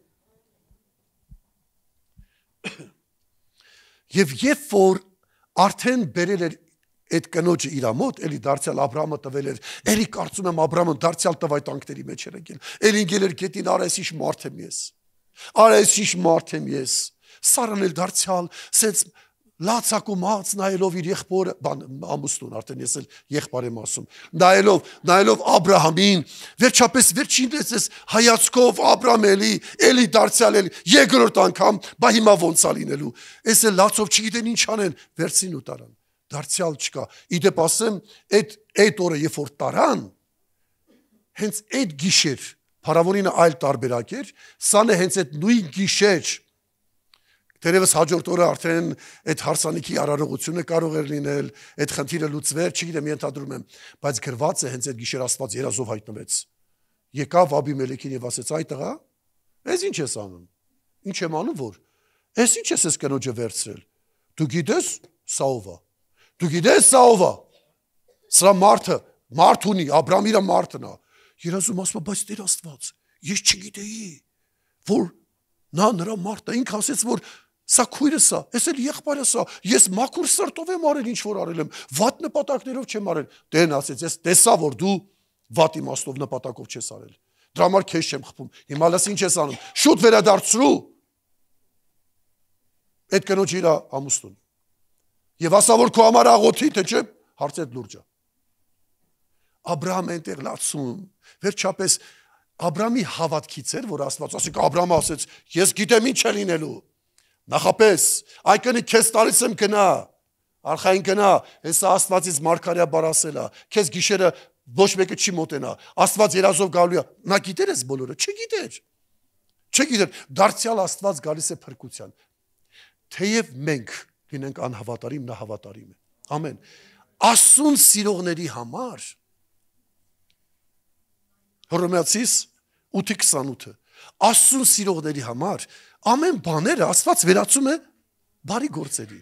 Եվ երբ որ արդեն բերել էր այդ կնոջը իր մոտ, էլի դարձյալ Աբրահամը տվել էր, էլի կարծում եմ Աբրահամը դարձյալ տվայտանքների մեջ էր եկել, էլի ինգել էր գետին, արա ես ինչ մարդ եմ ես, արա ես ինչ մարդ եմ ես, Սարան էլ դարձյալ, սենց լացակումած նայելով իր եղբորը, ամուսնուն, արդեն ես էլ եղբայր եմ ասում, նայելով Աբրահամին, վերջապես վերջին ես հայացքով Աբրահամ էլի դարձյալ էլի, երկրորդ անգամ, բա հիմա ոնց է լինելու, ես էլ լացով չգիտեն ինչ անեն, վերցին ու տարան, դարձյալ չկա, իդեպ ասեմ, այդ օրը երբ որ տարան, հենց այդ գիշեր, փարավոնինը այլ տարբերակ էր, սան է հենց այդ նույն գիշեր, Թերևս հաջորդ օրը արդեն այդ հարսանիքի արարողությունը կարող էր լինել, այդ խնդիրը լուծվեր, չգիտեմ, ենթադրում եմ, բայց գրված է հենց այդ գիշեր Աստված երազով հայտնվեց։ Եկավ Աբիմելեքին եւ ասեց. «Այ տղա, ես ինչ ես անում։ Ինչ եմ անում որ։ Ես ինչ ես կնոջը վերցրել։ Դու գիտես սա ով է։ Դու գիտես սա ով է։ Սա մարդ ունի, Աբրահամ իր մարդն է։ Երազում ասում է, բայց Տեր Աստված, ես չգիտեի, որ նա նրա մարդը ինքը ասեց, որ սա քույրս է, ես էլ եղբայրս է, ես մաքուր սրտով եմ արել ինչ որ արել եմ, վատ նպատակներով չեմ արել։ Տերն ասեց, ես տեսա, որ դու վատ իմաստով նպատակով չես արել։ Դրա համար քեզ չեմ խփում։ Հիմա լաս ինչ ես անում։ Շուտ վերադարձրու այդ կնոջ իր ամուսնուն։ Եվ ասա, որ քո համար աղոթի, թե չէ, հարցեր լուրջ է։ Աբրահամը այնտեղ լացում, վերջապես Աբրահամի հավատքից էր, որ Աստված ասի, Աբրահամը ասեց, ես գիտեմ ինչ է լինելու։ Նախապես, այ կնի քեզ տալիս եմ գնա, արխային գնա, հեսա Աստվածից մարգարեա բարասել է, քեզ գիշերը ոչ մեկը չի մոտենա, Աստված երազով գալու է, նա գիտեր էս բոլորը, չգիտեր։ Չգիտեր, դարձյալ Աստված գալիս է փրկության։ Թեև մենք լինենք անհավատարիմ, նա հավատարիմ է։ Ամեն։ Աստծուն սիրողների համար Հռոմեացիս 8:28 Աստծուն սիրողների համար ամեն բաները Աստված վերածում է բարի գործերի։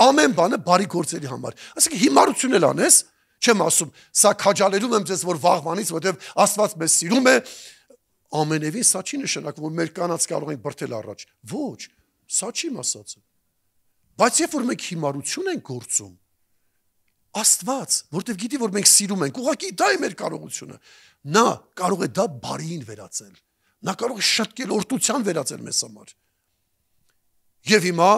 Ամեն բանը բարի գործերի համար։ Այսինքն հիմարություն էլ անես, չեմ ասում, սա քաջալերում եմ ձեզ, որ վաղվանից, որովհետև Աստված մեզ սիրում է, ամենևին սա չի նշանակում, որ մեր կանանց կարող ենք բրդել առաջ։ Ոչ, սա չի ասածը։ Բայց երբ որ մենք հիմարություն ենք գործում, Աստված, որտեվ գիտի, որ մենք սիրում ենք, ուղղակի դա է մեր կարողությունը։ Նա կարող է դա բարիին վերածել։ Նա կարող է շտկել օրտության վերածել մեզ համար։ Եվ հիմա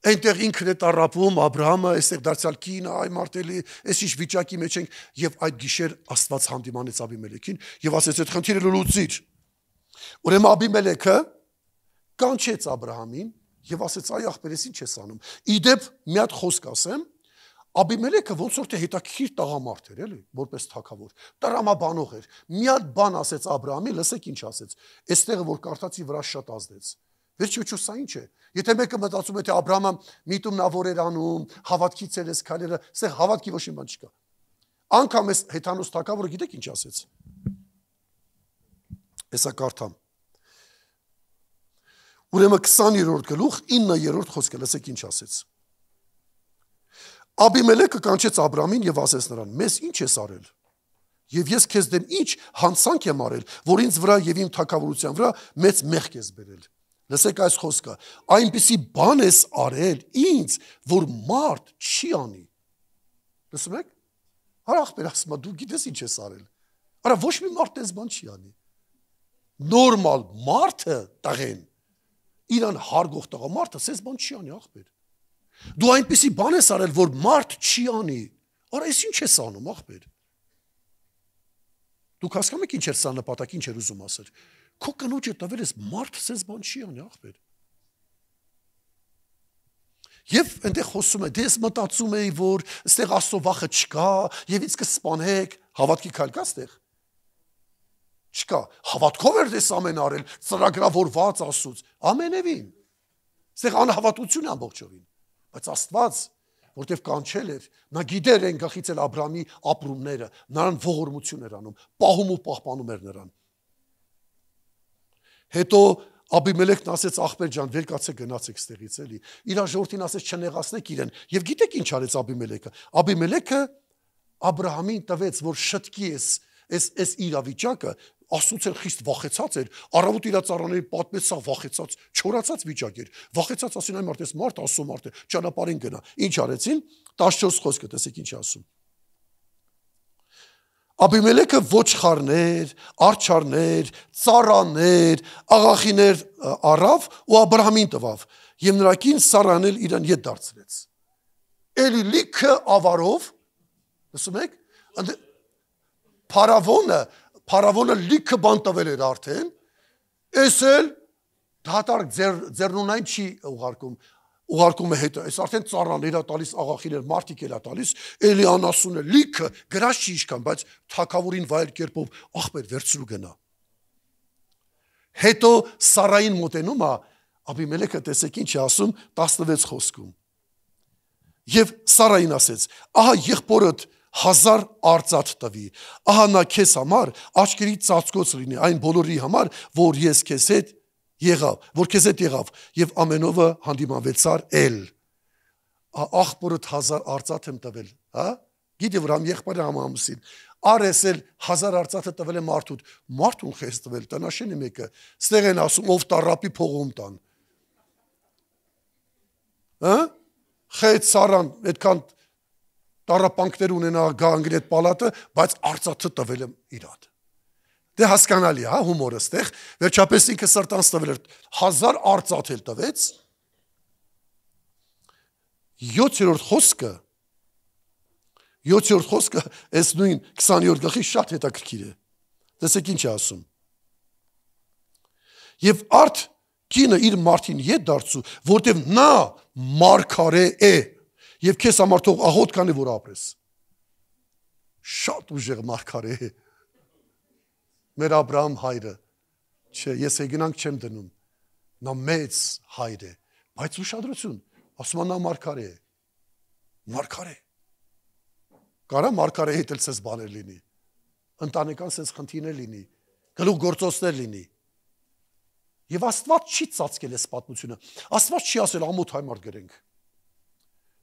այնտեղ ինքն է տառապում, Աբրահամը, այստեղ դարձյալ կինը, այ մարտելի, այս ինչ վիճակի մեջ ենք, եւ այդ գիշեր Աստված հանդիմանեց Աբիմելեքին եւ ասեց այդ խնդիրը լուծիր։ Ուրեմն Աբիմելեքը կանչեց Աբրահամին եւ ասեց այ ախպերես ինչ ես անում։ Իդեպ մի հատ խոսք ասեմ, Աբիմելեքը ոնց որ թե հետաքրքիր տղամարդ էր, էլի, որպես թագավոր, տրամաբանող էր։ Մի հատ բան ասեց Աբրահամին, լսեք ինչ ասեց։ Այստեղը որ կարդացի վրա շատ ազդեց։ Վերջիչու սա ինչ է։ Եթե մեկը մտածում է թե Աբրահամը միտում նա որ էր անում, հավատքի ցելես քայլերը, այստեղ հավատքի ոչ մի բան չկա։ Անկամ այս հեթանոս թագավորը գիտեք ինչ ասեց։ Հեսա կարդամ։ Ուրեմն 20-րդ գլուխ 9-րդ խոսքը լսեք ինչ ասեց։ Աբիմելեքը կանչեց Աբրամին եւ ասեց նրան. «Մեզ ինչ ես արել։ Եվ ես քեզ դեմ ինչ հանցանք եմ արել, որ ինձ վրա եւ իմ թագավորության վրա մեծ մեղք ես բերել»։ Լսեք այս խոսքը. «Այնպիսի բան ես արել ինձ, որ մարդ չի անի»։ Լսում եք։ Արա ախպեր ասում, դու գիտես ինչ ես արել։ Արա ոչ մի մարդ այս բան չի անի։ Նորմալ մարդը տղեն իրան հարգող տղամարդը այս բան չի անի ախպեր։ Դու այնպիսի բան ես արել, որ մարդ չի անի։ Արա այս ինչ ես անում, ախպեր։ Դուք հասկանում եք ինչ էր սա նպատակ, ինչ էր ուզում ասել։ Քո կնոջը տվել ես մարդ այս բան չի անի, ախպեր։ Եվ այնտեղ խոսում է, դե ես մտածում էի, որ այստեղ Աստծո վախը չկա, եւ ինձ կսպանեք, հավատքի քայլ կա այստեղ։ Չկա։ Հավատքով էր դες ամեն արել, ծրագրավորված Աստծուց։ Ամենևին։ Այստեղ անհավատություն ամբողջովին։ Բայց Աստված, որտեվ կանչել էր, նա գիտեր այն գախից էլ Աբրամի ապրումները, նրան ողորմություն էր անում, պահում ու պահպանում էր նրան։ Հետո Աբիմելեքն ասեց ախպեր ջան, վեր կացե գնացեք ստեղից էլի։ Իր ժողովրդին ասեց չնեղացնեք իրեն։ Եվ գիտեք ինչ արեց Աբիմելեքը։ Աբիմելեքը Աբրահամին տվեց, որ շտկի այս իրավիճակը, Աստծուց էլ խիստ վախեցած էր, առավոտ իր ծառաների պատմեց, սա վախեցած, չորացած վիճակ էր։ Վախեցած ասին այն մարդես մարդ, Աստծո մարդ է, ճանապարհին գնա։ Ինչ արեցին։ 14 խոսքը տեսեք ինչ ասում։ Աբիմելեքը ոչխարներ, արջարներ, ծառաներ, աղախիներ առավ ու Աբրահամին տվավ, եւ նրա կին Սարան էլ իրան ետ դարձրեց։ Էլի լիքը ավարով, լսում եք, Փարավոնը լիքը բան տվել էր արդեն, էս էլ դատարկ ձեռնունայն չի ուղարկում է հետո, այս արդեն ծառաներ է տալիս, աղախիներ, մարդիկ էլ է տալիս, էլի անասուն է, լիքը, գրած չի իշքան, բայց թագավորին վայել կերպով ախպեր վերցրու գնա։ Հետո Սարային մոտենում է, Աբիմելեքը տեսեք ինչ է ասում 16 խոսքում։ Եվ Սարային ասեց. ահա եղբորդ 1000 արծաթ տվի, ահա նա քեզ համար աչքերի ծածկոց լինի այն բոլորի համար, որ քեզ հետ եղավ, եւ ամենովը հանդիմանվեցար էլ։ Աղբորդ 1000 արծաթ եմ տվել, հա? Գիտի որ համ եղբայրը համ ամուսին։ Արես էլ 1000 արծաթը տվել է մարդուն քեզ տվել, տնաշենի մեկը, ստեղ են ասում ով տարապի փողում տան։ Հա? Խեյթ Սարան այդքան տարապանքներ ունենա գա անգրետ պալատը, բայց արծաթը տվել եմ իրան։ Դե հասկանալի է, հա, հումորը ստեղ, վերջապես ինքը սրտանց տվել էր 1000 արծաթ էլ տվեց։ 7-րդ խոսքը, այս նույն 20-րդ գլխի շատ հետաքրքիր է։ Տեսեք ինչ է ասում։ Եվ արդ կինը իր մարդին ետ դարձու, որտև նա մարգարե է, եւ քեզ համար թող աղոտ կանի որ ապրես։ Շատ ուժեղ մարգարե է։ Մեր Աբրահամ հայրը, Չէ, ես հեգնանք չեմ դնում։ Նա մեծ հայր է, բայց ուշադրություն, ասում նա մարգարե է։ Մարգարե։ Կարա մարգարեի հետ էլ սես բաներ լինի։ Ընտանեկան սես խնդիրներ լինի, գլուխ գործոցներ լինի։ Եվ Աստված չի ծածկել այս պատմությունը։ Աստված չի ասել ամոթ հայ մարդ գրենք։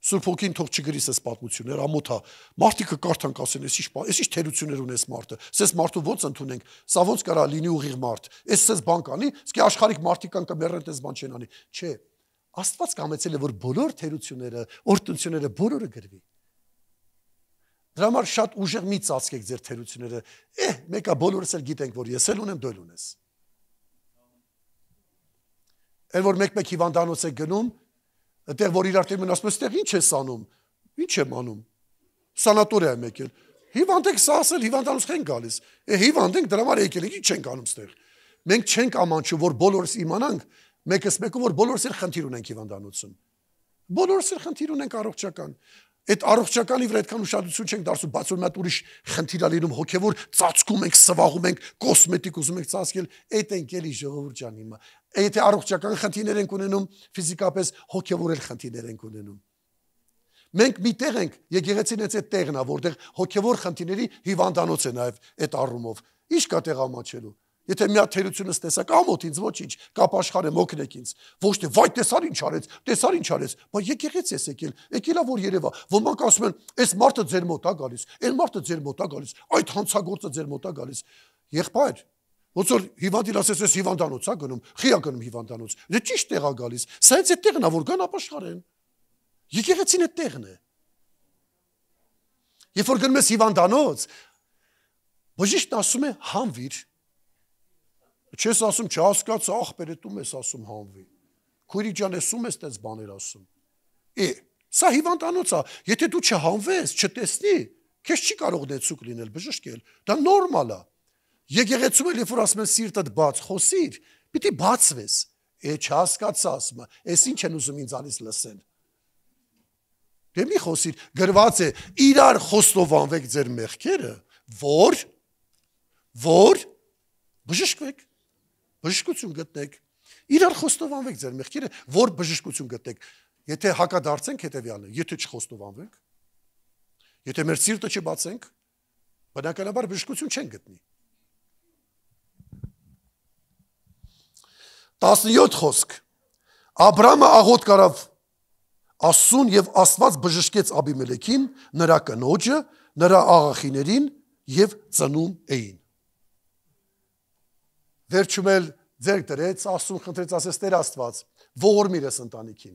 Սուրբ Հոգին թող չգրի սես պատմություններ, ամոթա։ Մարդիկը կարդան կասեն, ես ինչ թերություններ ունես մարդը։ Սես մարդու ոնց ընդունենք, սա ոնց կարա լինի ուղիղ մարդ։ Էս սես բան կանի, իսկ աշխարհիկ մարդիկան կմեռեն դες բան չեն անի։ Չէ։ Աստված կամեցել է որ բոլոր թերությունները, օրհնությունները բոլորը գրվի։ Դրա համար շատ ուժեղ մի ծածկեք ձեր թերությունները։ Մեկը բոլորս էլ գիտենք, որ ես էլ ունեմ, դու էլ ունես։ Էլ որ մեկ-մեկ հիվանդանոց է գնում, այդտեղ որ իրար տերմին ասում ես, այդտեղ ինչ ես անում։ Ինչ եմ անում։ Սանատորիա եմ եկել։ Հիվանդ եք սա ասել, հիվանդանոց չեն գալիս։ Հիվանդ ենք, դրա համար եկել ենք, ինչ ենք անում այդտեղ։ Մենք չենք ամանչում, որ բոլորս իմանանք, մեկս մեկը որ բոլորս էլ խնդիր ունենք հիվանդանոցում։ Բոլորս էլ խնդիր ունենք առողջական։ Այդ առողջականի վրա այդքան ուշադրություն չենք դարձում, բայց որ մատ ուրիշ խնդիր ա լինում հոգևոր ծածկում ենք, սվաղում ենք, կոսմետիկ ուզում ենք ծածկել, այդ ենք էլի ժողովուրդ ջան հիմա։ Եթե առողջական խնդիրներ ենք ունենում, ֆիզիկապես հոգևոր էլ խնդիրներ ենք ունենում։ Մենք մի տեղ ենք, եկեղեցին այդ տեղն է, որտեղ հոգևոր խնդիրների հիվանդանոց է նաև այդ առումով։ Ինչ կա տեղ ամաչելու։ Եթե մի հատ թերությունս տեսակ, ամոթ ինձ ոչինչ, կապ աշխարհեմ օգնեք ինձ։ Ոչ թե վայ տեսար ինչ արեց, բայց եկեղեցի ես եկել ա որ երևա։ Ոմանք ասում են, այս մարդը ձեր մոտ ա գալիս, այն մարդը ձեր մոտ ա գալիս, այդ հանցագործը ձեր մոտ ա գալիս։ Եղբայր, ոնց որ հիվանդին ասես, ես հիվանդանոց ա գնում, խի ա գնում հիվանդանոց։ Դե ճիշտ տեղ ա գալիս։ Սա այդ տեղն ա, որ գան ապաշխարեն։ Եկեղեցին այդ տեղն է։ Երբ որ գնում ես հիվանդանոց, բժիշկն ասում է հանվիր։ Չես ասում, չհասկաց, ախպեր է դու ես ասում հանվի։ Քույրի ջան, ես ում ես տես բաներ ասում։ Սա հիվանդանոց է, եթե դու չհանվես, չտեսնի, քեզ չի կարող դեցուկ լինել, բժշկել։ Դա նորմալ է։ Եկեղեցում էլ երբ որ ասում են սիրտդ բաց, խոսիր, պիտի բացվես։ Չհասկաց ասում, ես ինչ են ուզում ինձ անից լսեն։ Դե մի խոսիր, գրված է, իրար խոստովանվեք ձեր մեղքերը, որ բժշկվեք, բժշկություն գտնեք, իրար խոստովանվեք ձեր մեղքերը, որ բժշկություն գտնեք, եթե հակադարձենք հետևյալն է, եթե չխոստովանվենք, եթե մեր սիրտը չբացենք, բնականաբար բժշկություն չեն գտնի։ 17 խոսք, Աբրամը աղոտ կարավ Աստծուն և Աստված բժշկեց Աբիմելեքին, նրա կնոջը, նրա աղախիներին և ծնում էին։ Վերջում էլ ձեռք դրեց, Աստծուն խնդրեց, ասեց Տեր Աստված, ողորմիր ես ընտանիքին։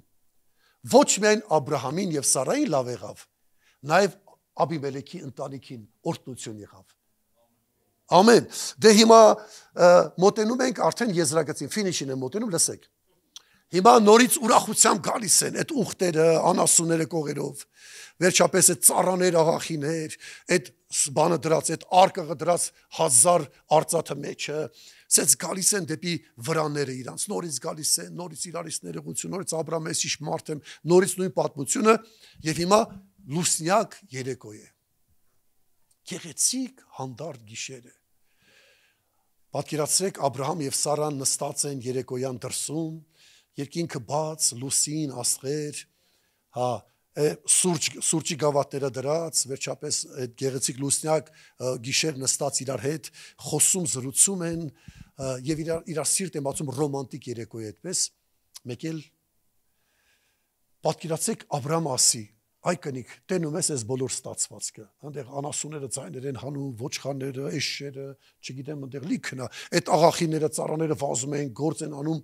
Ոչ միայն Աբրահամին և Սարային լավ եղավ, նաև Աբիմելեքի ընտանիքին օրհնություն եղավ։ Ամեն։ Դե հիմա մոտենում ենք արդեն եզրագծին, ֆինիշին են մոտենում, լսեք։ Հիմա նորից ուրախությամբ գալիս են այդ ուխտերը, անասունները կողերով, վերջապես այդ ծառաներ, աղախիներ, այդ բանը դրած, այդ արկղը դրած 1000 արծաթը մեջը, սենց գալիս են դեպի վրանները իրանց, նորից գալիս են, նորից իրարից ներողություն, նորից Աբրահամես իշ մարդ եմ, նորից նույն պատմությունը, և հիմա լուսնյակ երեկո է։ Գեղեցիկ հանդարտ գիշեր է։ Պատկերացրեք Աբրահամ և Սարան նստած են երեկոյան դրսում, երկինքը բաց, լուսին, աստղեր, սուրճի գավաթները դրած, վերջապես այդ գեղեցիկ լուսնյակ գիշեր նստած իրար հետ, խոսում, զրուցում են և իրար սիրտ են բացում ռոմանտիկ երեկո է այդպես, մեկ էլ պատկերացրեք Աբրահամ ասի, այ կնիկ, տենում ես այս բոլոր ստացվածքը, այնտեղ անասունները ձայներ են հանում, ոչխարները, էշերը, չգիտեմ, այնտեղ լիքն է, այդ աղախիները, ծառաները վազում են, գործ են անում,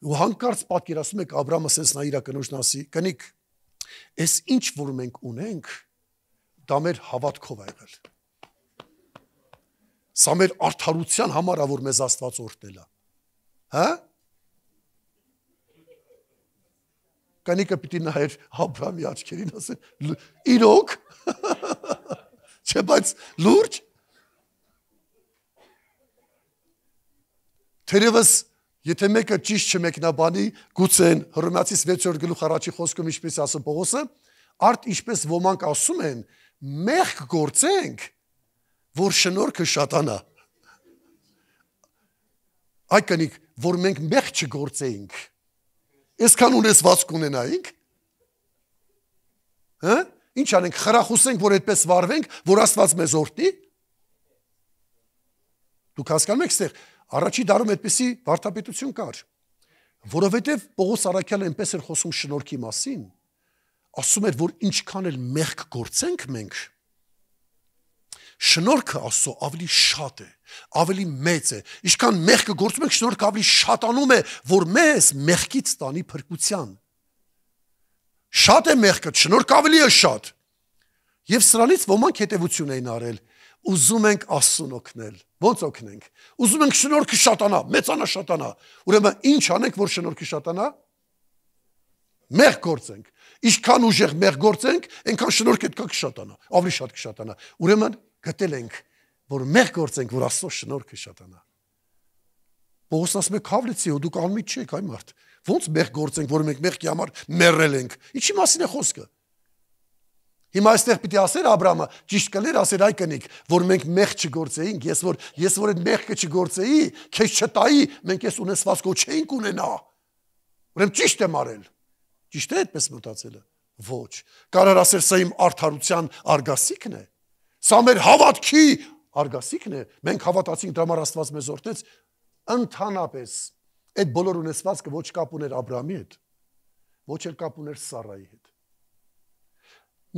ու հանկարծ պատկերացնում եք Աբրահամը սենց նա իր կնոջն ասի, կնիկ, այս ինչ որ մենք ունենք, դա մեր հավատքով ա եղել։ Սա մեր արդարության համար ա, որ մեզ Աստված օրհնել ա։ Հա? Կնիկը պիտի նայեր Աբրահամի աչքերին, ասել, իրոք, չէ, բայց լուրջ, թերևս, եթե մեկը ճիշտ չմեկնաբանի, գուցե Հռոմեացիս 6-րդ գլուխ առաջի խոսքում ինչպես ասում Պողոսը, արդ ինչպես ոմանք ասում են, մեղք գործենք, որ շնորհքը շատանա։ այ կնիկ, որ մենք մեղ չգործեինք, այսքան ունեցվածք ունենայինք, ինչ անենք, խրախուսենք, որ այդպես վարվենք, որ Աստված մեզ օրհնի։ Դուք հասկանում եք, ստեղ առաջի դարում այդպիսի վարդապետություն կար, որովհետև Պողոս առաքյալը այնպես էր խոսում շնորհքի մասին, ասում էր, որ ինչքան էլ մեղք գործենք մենք, շնորհքը Աստծո ավելի շատ է, ավելի մեծ է, ինչքան մեղքը գործում ենք, շնորհքը ավելի շատանում է, որ մեզ մեղքից տանի փրկության։ Շատ է մեղքը, շնորհքը ավելի է շատ։ Եվ սրանից ոմանք հետևություն էին արել, ուզում ենք Աստծուն օգնել։ Ոնց օգնենք։ Ուզում ենք շնորհքը շատանա, մեծանա շատանա։ Ուրեմն ինչ անենք, որ շնորհքը շատանա։ Մեղ գործենք։ Ինչքան ուժեղ մեղ գործենք, այնքան շնորհքը դկա կշատանա, ավելի շատ կշատանա։ Ուրեմն գտել ենք, որ մեղ գործենք, որ Աստծո շնորհքը շատանա։ Պողոսն ասում է քավլեցի, ու դուք անմիջ չեք, այ մարդ։ Ոնց մեղ գործենք, որ մենք մեղքի համար մեռել ենք։ Ինչի մասին է խոսքը։ Հիմա այստեղ պիտի ասեր Աբրահամը, ճիշտ կլեր ասեր այ կնիկ, որ մենք մեղ չգործեինք, ես որ այդ մեղքը չգործեի, քեզ չտայի, մենք այս ունեցվածքով չէինք ունենա։ Ուրեմն ճիշտ եմ արել։ Ճիշտ է այդպես մտածելը։ Ոչ։ Կարար ասեր սա իմ արդարության արգասիքն է։ Սա մեր հավատքի արգասիքն է։ Մենք հավատացինք, դրա համար Աստված մեզ օրհնեց։ Ընդհանրապես այդ բոլոր ունեցվածքը ոչ կապ ուներ Աբրահամի հետ, ոչ էլ կապ ուներ Սարայի հետ։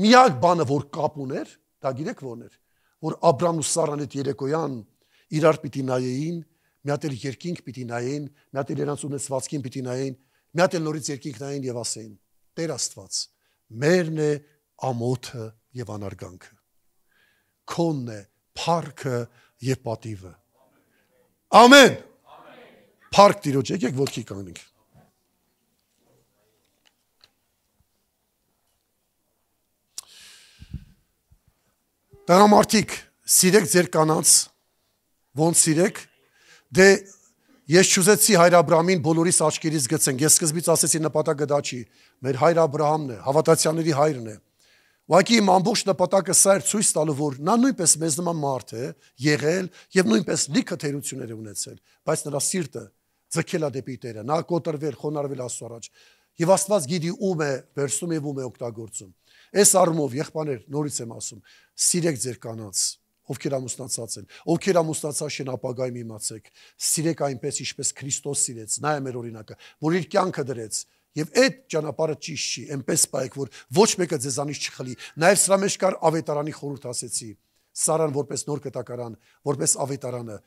Միակ բանը, որ կապ ուներ, դա գիտեք ո՞րն էր, որ Աբրահամն ու Սարան այդ երեկոյան իրար պիտի նայեին, մի հատ էլ երկինք պիտի նայեն, մի հատ էլ նրանց ունեցվածքին պիտի նայեն, մի հատ էլ նորից երկինք նայեն եւ ասեին. Տեր Աստված, մերն է ամոթը եւ անարգանքը, քոնն է փառքը եւ պատիվը։ Ամեն։ Փառք Տիրոջ, եկեք ոտքի կանգնենք։ Տղամարդիկ, սիրեք ձեր կանանց, ոնց սիրեք, դե ես չուզեցի հայր Աբրահամին բոլորիս աչքերից գցենք, ես սկզբից ասեցի նպատակը դա չի, մեր հայր Աբրահամն է, հավատացյալների հայրն է, ուղղակի իմ ամբողջ նպատակը սա էր ցույց տալու, որ նա նույնպես մեզ նման մարդ է եղել եւ նույնպես լիքը թերություններ է ունեցել, բայց նրա սիրտը ձգել է դեպի Տերը, նա կոտրվել, խոնարհվել Աստծո առաջ եւ Աստված գիտի ում է վերցնում եւ ում է օգտագործում։ Այս առումով եղբայրներ, նորից եմ ասում, սիրեք ձեր կանանց, ովքեր ամուսնացած են, ովքեր ամուսնացած են ապագայում իմացեք, սիրեք այնպես, ինչպես Քրիստոս սիրեց, նա է մեր օրինակը, որ իր կյանքը դրեց, եւ այդ ճանապարհը ճիշտ չի, այնպես պայեք, որ ոչ մեկը ձեզանից չխլի։ Նաեւ սրա մեջ կար ավետարանի խորհուրդ ասեցի, Սարան որպես նոր կտակարան, որպես ավետարանը,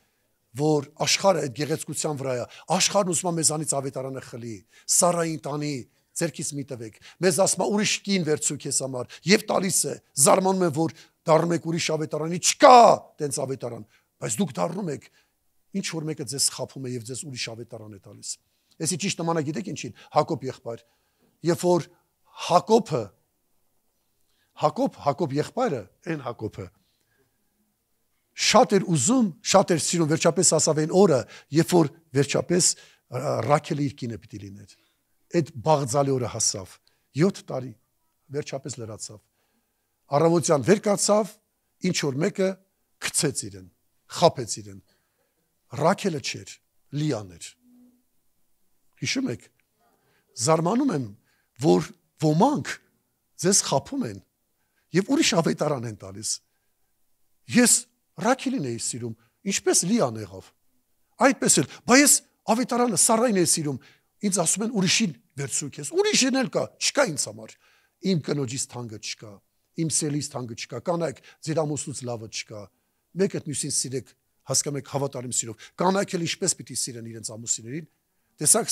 որ աշխարհը այդ գեղեցկության վրա է, աշխարհն ուզում է մեզանից ավետարանը խլի, Սարային տանի, ձերքից մի տվեք, մեզ ասում է ուրիշ կին վերցու քեզ համար, եւ տալիս է, զարմանում եմ, որ դառնում եք ուրիշ ավետարանի, չկա տենց ավետարան, բայց դուք դառնում եք, ինչ որ մեկը ձեզ խափում է եւ ձեզ ուրիշ ավետարան է տալիս։ Էսի ճիշտ նմանը գիտեք ինչին, Հակոբ եղբայր, երբ որ Հակոբ եղբայրը, այն Հակոբը շատ էր ուզում, շատ էր սիրում, վերջապես ասավ այն օրը, երբ որ վերջապես Ռաքելը իր կինը պիտի լիներ։ Այդ բաղձալի օրը հասավ, 7 տարի, վերջապես լրացավ։ Առավոտյան վեր կացավ, ինչ որ մեկը գցեց իրեն, խափեց իրեն։ Ռաքելը չէր, Լիան էր։ Հիշում եք, զարմանում եմ, որ ոմանք ձեզ խափում են եւ ուրիշ ավետարան են տալիս։ Ես Ռաքելին էի սիրում, ինչպես Լիան եղավ։ Այդպես էլ, բայց ես ավետարանը Սարային էի սիրում, ինձ ասում են ուրիշին վերցրու քեզ։ Ուրիշին էլ կա, չկա ինձ համար։ Իմ կնոջից թանկը չկա, իմ սելից թանկը չկա, կանայք ձեր ամուսնուց լավը չկա։ Մեկը մյուսին սիրեք, հասկանում եք հավատարիմ սիրով։ Կանայք էլ ինչպես պիտի սիրեն իրենց ամուսիններին։ Տեսակ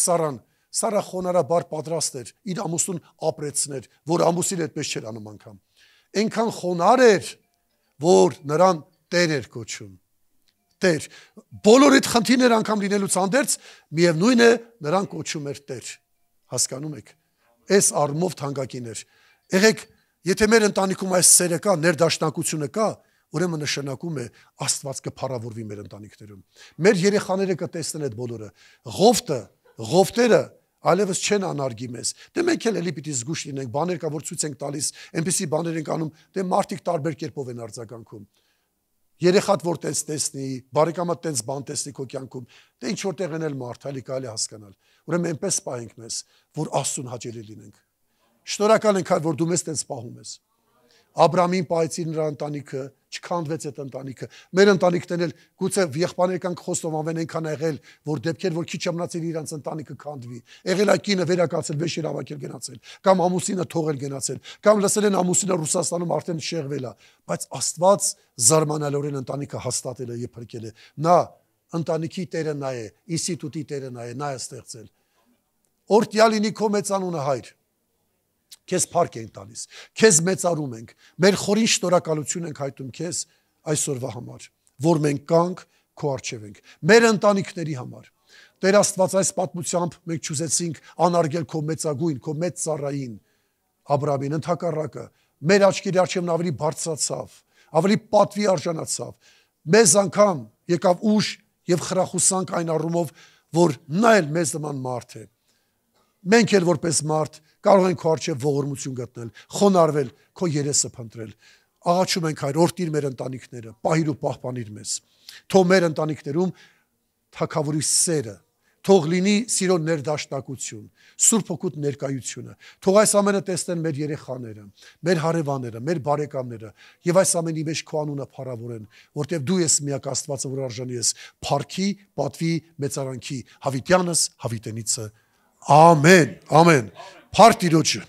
Սարա խոնարհաբար պատրաստ էր իր ամուսնուն ապրեցներ, որ ամուսին այդպես չէր անում անգամ։ Այնքան խոնարհ էր, որ նրան Տեր էր կոչում։ Տեր, բոլոր այդ խնդիրներ անգամ լինելուց հանդերձ, միևնույն է նրան կոչում էր Տեր։ Հասկանում եք։ Այս առումով թանկագին էր։ Եղեք, եթե մեր ընտանիքում այս սերը կա, ներդաշնակությունը կա, ուրեմն նշանակում է Աստված կփառավորվի մեր ընտանիքներում։ Մեր երեխաները կտեսնեն այդ բոլորը։ Ղովտերը այլևս չեն անարգի մեզ։ Դե մենք էլ էլի պիտի զգուշ լինենք, բաներ կա որ ցույց ենք տալիս, այնպիսի բաներ ենք անում, դե մարդիկ տարբեր կերպով են արձագանքում։ երեխատ որ տենց տեսնի, բարեկամատ տենց բան տեսնի քո կյանքում, դե ինչ որտեղ են էլ մարդ, հəli կարելի հասկանալ։ Ուրեմն այնպես պահենք մեզ, որ Աստծուն հաճելի լինենք։ Շնորհակալ ենք, որ դու մեզ տենց պահում ես։ Աբրամին պահեցի նրա ընտանիքը, չքանդվեց այդ ընտանիքը։ Մեր ընտանիքներն էլ գուցե եղբայրական խոստովանվեն այնքան եղել, որ դեպքեր որ քիչ մնացել իրանց ընտանիքը քանդվի։ Եղել այդ կինը վերակացել, վեշ իրավակել գնացել, կամ ամուսինը թողել գնացել, կամ լսել են ամուսինը Ռուսաստանում արդեն շեղվել է, բայց Աստված զարմանալիորեն ընտանիքը հաստատել է եւ փրկել է։ Նա ընտանիքի տերը նա է, ինստիտուտի տերը նա է, նա է ստեղծել։ Օրտյալ լինի քո մեծանունը, Հայր։ Քեզ փառք ենք տալիս, քեզ մեծարում ենք, մեր խորին շնորհակալություն ենք հայտնում քեզ այսօրվա համար, որ մենք կանք քո առջև ենք, մեր ընտանիքների համար։ Տեր Աստված, այս պատմությամբ մենք չուզեցինք անարգել քո մեծագույն, քո մեծ ծառային Աբրամին, ընդհակառակը մեր աչքերի առջև ավելի բարձրացավ, ավելի պատվի արժանացավ, մեզ անգամ եկավ ուժ եւ խրախուսանք այն առումով, որ նա էլ մեզ նման մարդ է։ Մենք էլ որպես մարդ կարող ենք քո առջև ողորմություն գտնել, խոնարհվել, քո երեսը փնտրել։ Աղաչում ենք, Հայր, օրհնիր մեր ընտանիքները, պահիր ու պահպանիր մեզ։ Թող մեր ընտանիքներում թագավորի սերը, թող լինի սիրո ներդաշնակություն, Սուրբ Հոգուտ ներկայությունը։ Թող այս ամենը տեսնեն մեր երեխաները, մեր հարևանները, մեր բարեկամները, եւ այս ամենի մեջ քո անունը փառավորեն, որտեղ դու ես միակ Աստվածը, որ արժանի ես փառքի, պատվի, մեծարանքի, հավիտյանս, հավիտենիցը։ Ամեն, ամեն։ Փառք Տիրոջը։